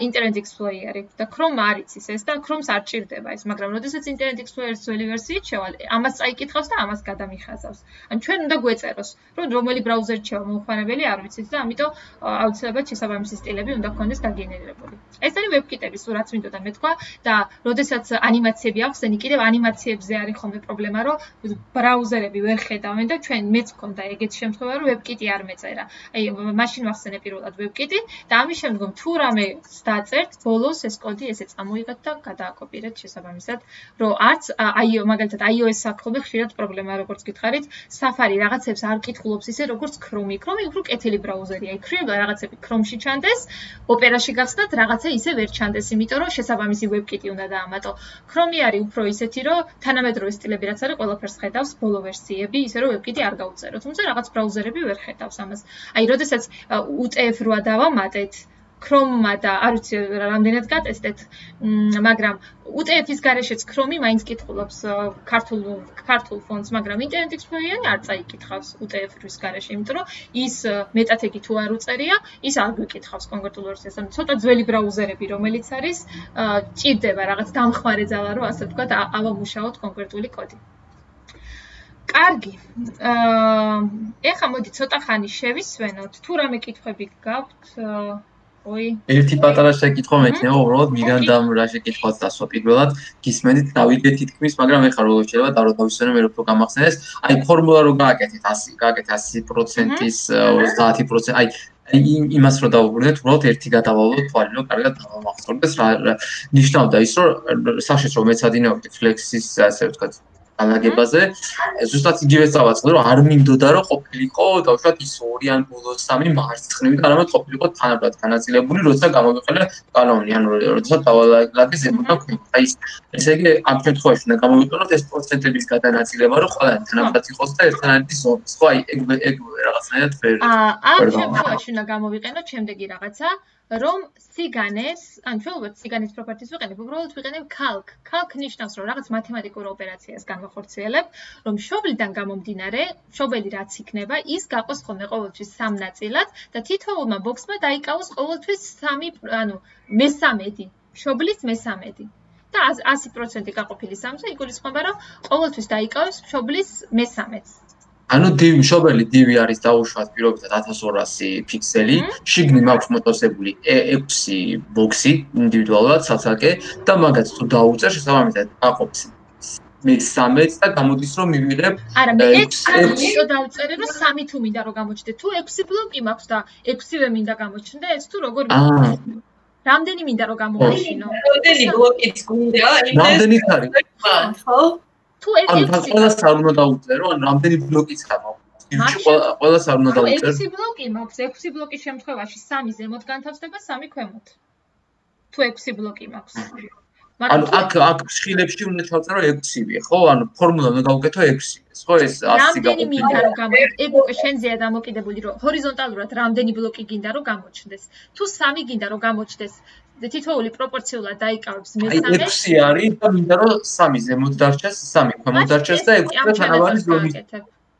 Internet Explorer-ი და Chrome არ იცის ეს და Chrome-ს არ ჭირდება ეს, მაგრამ როდესაც Internet Explorer-ის ძველი ვერსიით შევალ, ამას წაიკითხავს და ამას გადამიხაზავს. ან ჩვენ უნდა გვეწეროს რომ რომელი ბრაუზერი შევა მომხმარებელი არ ვიცით და ამიტომ აუცილებლად შესაბამისი სტილები უნდა გქონდეს დაგენერირებული. ეს არის ვებკიტები, სულ რაც მინდოდა მეთქვა და როდესაც ანიმაციები ახსენი, კიდევ ანიმაციებზე არის ხოლმე პრობლემა, რომ ბრაუზერები ვერ ხედავენ და ჩვენ მეც მქონდა ეგეთ შემთხვევა, რომ ვებკიტი არ მეწერა. აი მაშინ ვახსენე პირველად ვებკიტი და ამის შემდგომ თუ რამე დაწერთ, ბოლოს ეს კოდი ესე წამოიღეთ და გადააკოპირეთ შესაბამისად, რომ არც აი მაგალითად iOS-ს აქვს ხოლმე ხშირად პრობლემა, როგორც გითხარით, Safari რაღაცებს არ კითხულობს ისე როგორც Chrome. Chrome უფრო კეთილი ბრაუზერია. აი ქრება რაღაცები Chrome-ში ჩანდეს, ოპერაში გახსნათ რაღაცა ისე ვერ ჩანდეს, იმიტომ რომ შესაბამისი ვებკიტი უნდა დაამატო. Chrome არის უფრო ისეთი, რომ თანამედროვე სტილები რაც არის, ყველაფერს ხედავს, ბოლო ვერსიები, ისე რომ ვებკიტი არ გაუწერო. თუმცა რაღაც ბრაუზერები ვერ ხედავს ამას. აი, როდესაც U T F რვა დავამატეთ Chrome-მა და არ ვიცი რამდენად გატესტეთ, მაგრამ U T F-ის გარეშეც Chrome-ი მაინც კითხულობს ქართულ ქართულ ფონტს, მაგრამ Internet Explorer-ი არ წაიკითხავს U T F-ის გარეშე, იმიტომ რომ ის მეტათეგი თუ არ უწერია, ის არ გვიკითხავს კონკრეტულ ვერსიას. ანუ ცოტა ძველი ბრაუზერები, რომელიც არის, ჭირდება რაღაც დამხმარე ძალა, რომ ასე ვთქვათ, ავამუშაოთ კონკრეტული კოდი. კარგი. ეხლა მოდი ცოტა ხანი შევისვენოთ. თუ რამე კითხვები გაქვთ, ой. ერთი პატარა შეკითხვა მექნება, უბრალოდ მიგანდამ რა შეკითხვაც დასვა პირველად, გისმენთ დავიდე თითქმის, მაგრამ ეხლა როგორ შეიძლება და რო დავისვენო მე რო გამახსენეს, აი ფორმულა რო გააკეთეთ ასი, გააკეთეთ ასი პროცენტის ოცდაათი პროცენტი, აი იმას რო დავუბრუნდეთ, უბრალოდ ერთი გადავალოთ თვალი, რომ კარგად დავამახსოვრდეს რა ნიშნავდა ის, რომ საშეც რომ მეცადინეობდი Flex-ის ასე ვთქვათ განლაგებაზე, ზუსტად იგივე წავაწყდი, რომ არ მინდოდა რომ ყოფილიყო დავუშვათ ის ორი ან ბოლოს სამი მარცხნივი და არამედ ყოფილიყო თანაბრად განაწილებული, როცა გამოვიყენე კანონი, ანუ როცა დავალაგე ზემოდან ქვით. აი ესე იგი ამ შემთხვევაში უნდა გამოვიყენოთ ეს პროცენტების გადანაწილება, რომ ყველანი თანაბრად იყოს და ერთმანეთი ზომის. ხო, აი ეგ ეგ რაღაცნაირად ვერ. აა ამ შემთხვევაში უნდა გამოვიყენოთ შემდეგი რაღაცა, რომ სიგანეს, ან ჩვენ უბრალოდ სიგანის პროპერტის ვიყენებ, უბრალოდ ვიყენებ calc. calc ნიშნავს, რომ რაღაც მათემატიკურ ოპერაციას განვახორციელებ, რომ მშობლიდან გამომდინარე, მშობელი რაც იქნება, ის გაყოს ხოლმე ყოველთვის სამ ნაწილად და თითოეულმა ბოქსმა დაიკავოს ყოველთვის სამი, ანუ მესამედი, მშობლის მესამედი. და ასი პროცენტი გაყოფილი სამზე იგულისხმება, რომ ყოველთვის დაიკავოს მშობლის მესამედს. ანუ დივი მშობელი დივი არის დაუშვათ პირობითად ათას ორასი ფიქსელი, შიგნით მაქვს მოტოსებული ექვსი ბოქსი ინდივიდუალურად ცალ-ცალკე და მაგაც თუ დაუწერ შესაბამისად აყოფს მესამედს და გამოდის რომ მივიღებ არა მე ექვსი იმიტომ დაუწერე რომ სამი თუ მინდა რომ გამოჩნდე თუ ექვსი ბლოკი მაქვს და ექვსივე მინდა გამოჩნდეს თუ როგორ რამდენი მინდა რომ გამოვაშინო რამდენი ბლოკიც გვინდა რამდენი არის ხო თუ ექვსი ყველას არ უნდა დაუწერო ან რამდენი ბლოკიც გამოდის ყველას არ უნდა დაუწერო ექვსი ბლოკი მაქვს ექვსი ბლოკის შემთხვევაში სამი ზემოთ განთავსდება სამი ქვემოთ თუ ექვსი ბლოკი მაქვს ანუ აქ აქ შხილებში უნდა ჩავწერო ექვსივე ხო ანუ ფორმულა უნდა გავუკეთო ექვსი ხო ეს ასი რამდენი მინდა რომ გამოჩნდეს ეგ უკვე შენზეა დამოკიდებული რომ ჰორიზონტალურად რამდენი ბლოკი გინდა რომ გამოჩნდეს თუ სამი გინდა რომ გამოჩნდეს თითოეული პროპორციულად დაიკავებს მესამე ექვსი არის და მინდა რომ სამი ზემოთ დარჩეს სამი ქვემოთ დარჩეს და ექვსი თანაბარი ზომის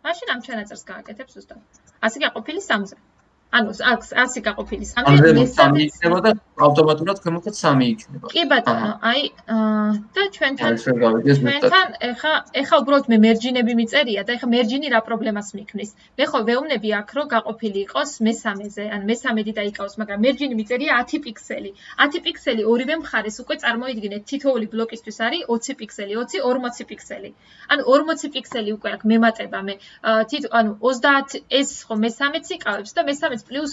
მაშინ ამ ჩანაწერს გააკეთებ ზუსტად ასი გაყოფილი სამზე ანუ აქ ასი გაყოფილი სამზე მესამე ავტომატურად ქვემოთ სამი იქნება. კი ბატონო, აი და ჩვენთან ჩვენთან ეხა ეხა უბრალოდ მე მერჯინები მიწერია და ეხა მერჯინი რა პრობლემას მიქმნის. მე ხო ვეუბნები აქ რომ გაყოფილი იყოს მესამეზე, ან მესამედი დაიკავოს, მაგრამ მერჯინი მიწერია ათი პიქსელი. ათი პიქსელი ორივე მხარეს უკვე წარმოიდგინეთ თითოეული ბლოკისთვის არის ოცი პიქსელი, ოცი ორმოცი პიქსელი. ანუ ორმოცი პიქსელი უკვე აქ მემატება მე თითო ანუ ოცდაათი ეს ხო მესამეც იკავებს და მესამეც პლუს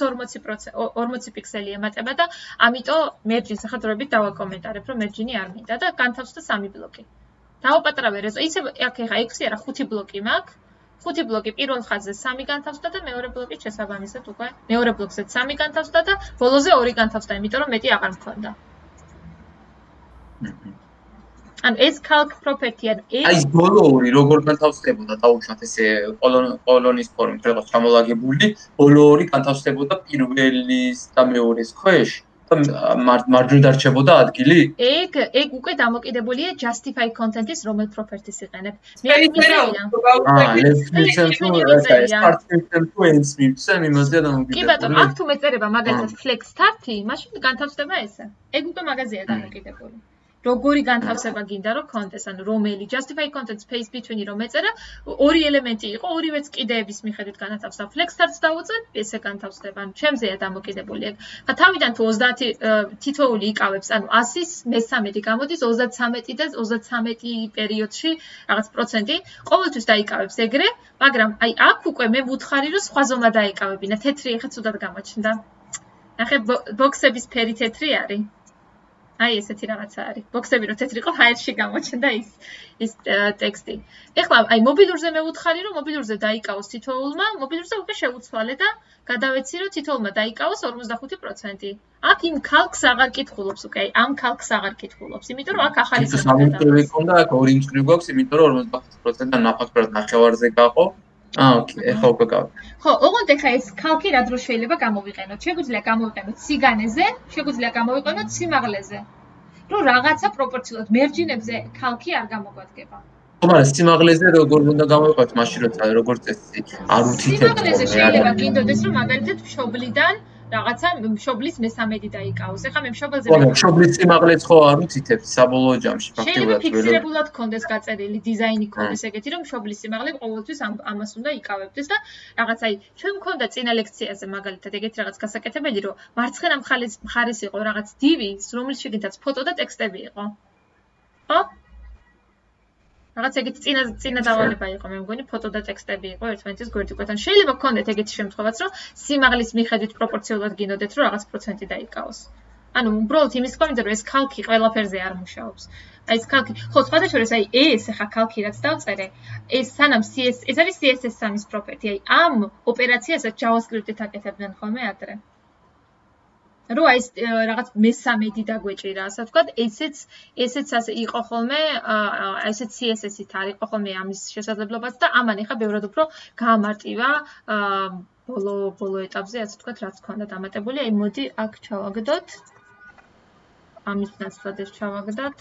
ორმოცი პიქსელი ემატება და ამიტომ მერჯინს ახლა დავაკომენტარებ რომ მერჯინი არ მინდა და განთავსდა სამი ბლოკი. დავაპატრავე რეზო ისე აქ ეხა ექვსი არა ხუთი ბლოკი მაქვს. ხუთი ბლოკი პირველ ხაზზე სამი განთავსდა და მეორე ბლოკი შესაბამისად უკვე მეორე ბლოკზეც სამი განთავსდა და ბოლოზე ორი განთავსდა, იმიტომ რომ მეტი აღარ მქონდა. ან ეს calc property ან ეს აი ბოლო ორი როგორ განთავსდებოდა დაუშვათ ესე კოლონის ფორმით რაღაც ჩამოლაგებული ბოლო ორი განთავსდებოდა პირველის და მეორის ქვეშ და მარჯვნივ დარჩებოდა ადგილი ეგ ეგ უკვე დამოკიდებულია justify content-ის რომელ properties იყენებ მე ვიწერა აა let's listen to start system to end system იმაზე დამოკიდებულია კი ბატონო აქ თუ მეწერება მაგალითად flex start-ი მაშინ განთავსდება ესე ეგ უკვე მაგაზია დამოკიდებული როგორი განთავსება გინდა რომ კონტეს ანუ რომელი justify content space between-ი რომ ეწერა ორი ელემენტი იყო ორივეც კიდეების მიხედვით განათავსდა flex start-ს დავუწევ ესე განთავსდება ანუ ჩემზეა დამოკიდებული ეგ ხა თავიდან თუ ოცდაათი თითოეული იკავებს ანუ ასის მესამედი გამოდის ოცდათრამეტი და ოცდათრამეტი პერიოდში რაღაც პროცენტი ყოველთვის დაიკავებს ეგრე მაგრამ აი აქ უკვე მე ვუთხარი რომ სხვა ზომა დაიკავებინა თეთრი ეხა ცუდად გამოჩნდა ნახე ბოქსების ფერი თეთრი არის აი ესეთი რაღაცა არის. ბოქსები რო თეთრი იყო, ჰაერში გამოჩნდა ის ის ტექსტი. ეხლა აი მობილურზე მე ვუთხარი რომ მობილურზე დაიკავოს თითოეულმა, მობილურზე უკვე შევუცვალე და გადავეცი რომ თითოეულმა დაიკავოს ორმოცდახუთი პროცენტი. აქ იმ calc-ს აღარ კითხულობს უკვე, აი ამ calc-ს აღარ კითხულობს, იმიტომ რომ აქ ახალი სამი მწვრივი ქონდა, აქ ორი მწვრივი გვაქვს, იმიტომ რომ ორმოცდახუთი პროცენტი ნაფაქტურად ნახევარზე გაყო. აა ოკეი, ეხლა უკვე გავ. ხო, ოღონდ ეხლა ეს calc-ი რა დრო შეიძლება გამოვიყენოთ? შეგვიძლია გამოვიყენოთ სიგანეზე, შეგვიძლია გამოვიყენოთ სიმაღლეზე. რომ რაღაცა პროპორციულად მერჯინებზე calc-ი არ გამოგვადგება. ხო, მაგრამ სიმაღლეზე როგორ უნდა გამოვიყენოთ მაშინ როცა როგორც წესი არ უთითებს. სიმაღლეზე შეიძლება გინდოდეს რომ მაგალითად მშობლიდან რაღაცა მშობლის მესამედი დაიკავოს. ეხლა მე მშობელზე ხო, მშობლის სიმაღლეც ხო არ უთითებს საბოლოო ჯამში ფაქტიურად. შეიძლება ფიქსირებულად კონდეს გაწერილი დიზაინი კონდეს ეგეთი რომ მშობლის სიმაღლე ყოველთვის ამას უნდა იკავებდეს და რაღაც აი ჩვენ მქონდა წინა ლექციაზე მაგალითად ეგეთი რაღაც გასაკეთებელი რომ მარცხენა მხარეს იყო რაღაც დივი რომელიც შეგინდაც ფოტო და ტექსტები იყო. ხო? რაღაც ეგეთი წინა წინა დავალება იყო მე მგონი ფოტო და ტექსტები იყო ერთმანეთის გვერდიგვერდთან. შეიძლება გქონდეთ ეგეთი შემთხვევაც რომ სიმაღლის მიხედვით პროპორციულად გინდოდეთ რომ რაღაც პროცენტი დაიკავოს. ანუ უბრალოდ იმის თქმა მინდა რომ ეს calc-ი ყველაფერზე არ მუშაობს. აი ეს calc-ი ხო სხვადასხვა აი ეს ახლა calc-ი რაც დავწერე ეს სანამ C S ეს არის C S S სამის property აი ამ ოპერაციასაც JavaScript-ით აკეთებდნენ ხოლმე ადრე. რო აი ეს რაღაც მესამედი დაგვეჭირა, ასე ვთქვათ, ესეც ესეც ასე იყო ხოლმე, აი ესეც C S S-ით არ იყო ხოლმე ამის შესაძლებლობაც და ამან ეხა ბევრად უფრო გაამარტივა ბოლო ბოლო ეტაპზე, ასე ვთქვათ, რაც ქონდა დამატებული. აი მოდი აქ ჩავაგდოთ. ამის ნაცვლად ეს ჩავაგდოთ.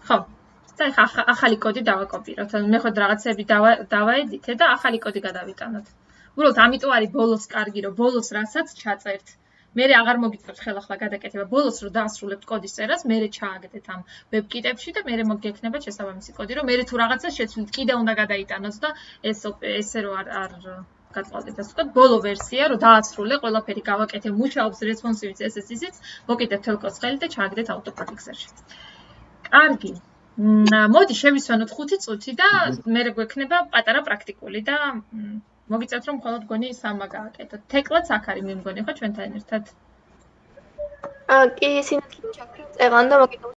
ხო და ახლა ახალი კოდი დავაკოპიროთ. ანუ მე ხოდ რაღაცები დავაედიტე და ახალი კოდი გადავიტანოთ. უბრალოდ ამიტომ არის ბოლოს კარგი, რომ ბოლოს რასაც ჩაწერთ. მე აღარ მოგიწევთ ხელახლა გადაკეთება. ბოლოს რო დაასრულებთ კოდის წერას, მე ჩააგდეთ ამ ვებკიტებში და მე მოგექნება შესაბამისი კოდი, რომ მე თუ რაღაცას შეცვლით, კიდე უნდა გადაიტანოთ და ეს ესე რო არ არ გატყავდეთ. ასე ვთქვათ, ბოლო ვერსია რო დაასრულე, ყველაფერი გავაკეთე, მუშაობს responsive C S S-იც, მოკიდეთ თელ კოდს ხელი და ჩააგდეთ auto-prefix-ში. კარგი. მოდი შევისვენოთ ხუთი წუთი და მე გვექნება პატარა პრაქტიკული და მოგიწევთ რომ მხოლოდ გონი სამა გააკეთოთ. თეკლაც აქ არის მე მგონი ხო ჩვენთან ერთად? აა კი ისინი ჩაქრეთ წეღან და მოგიწევთ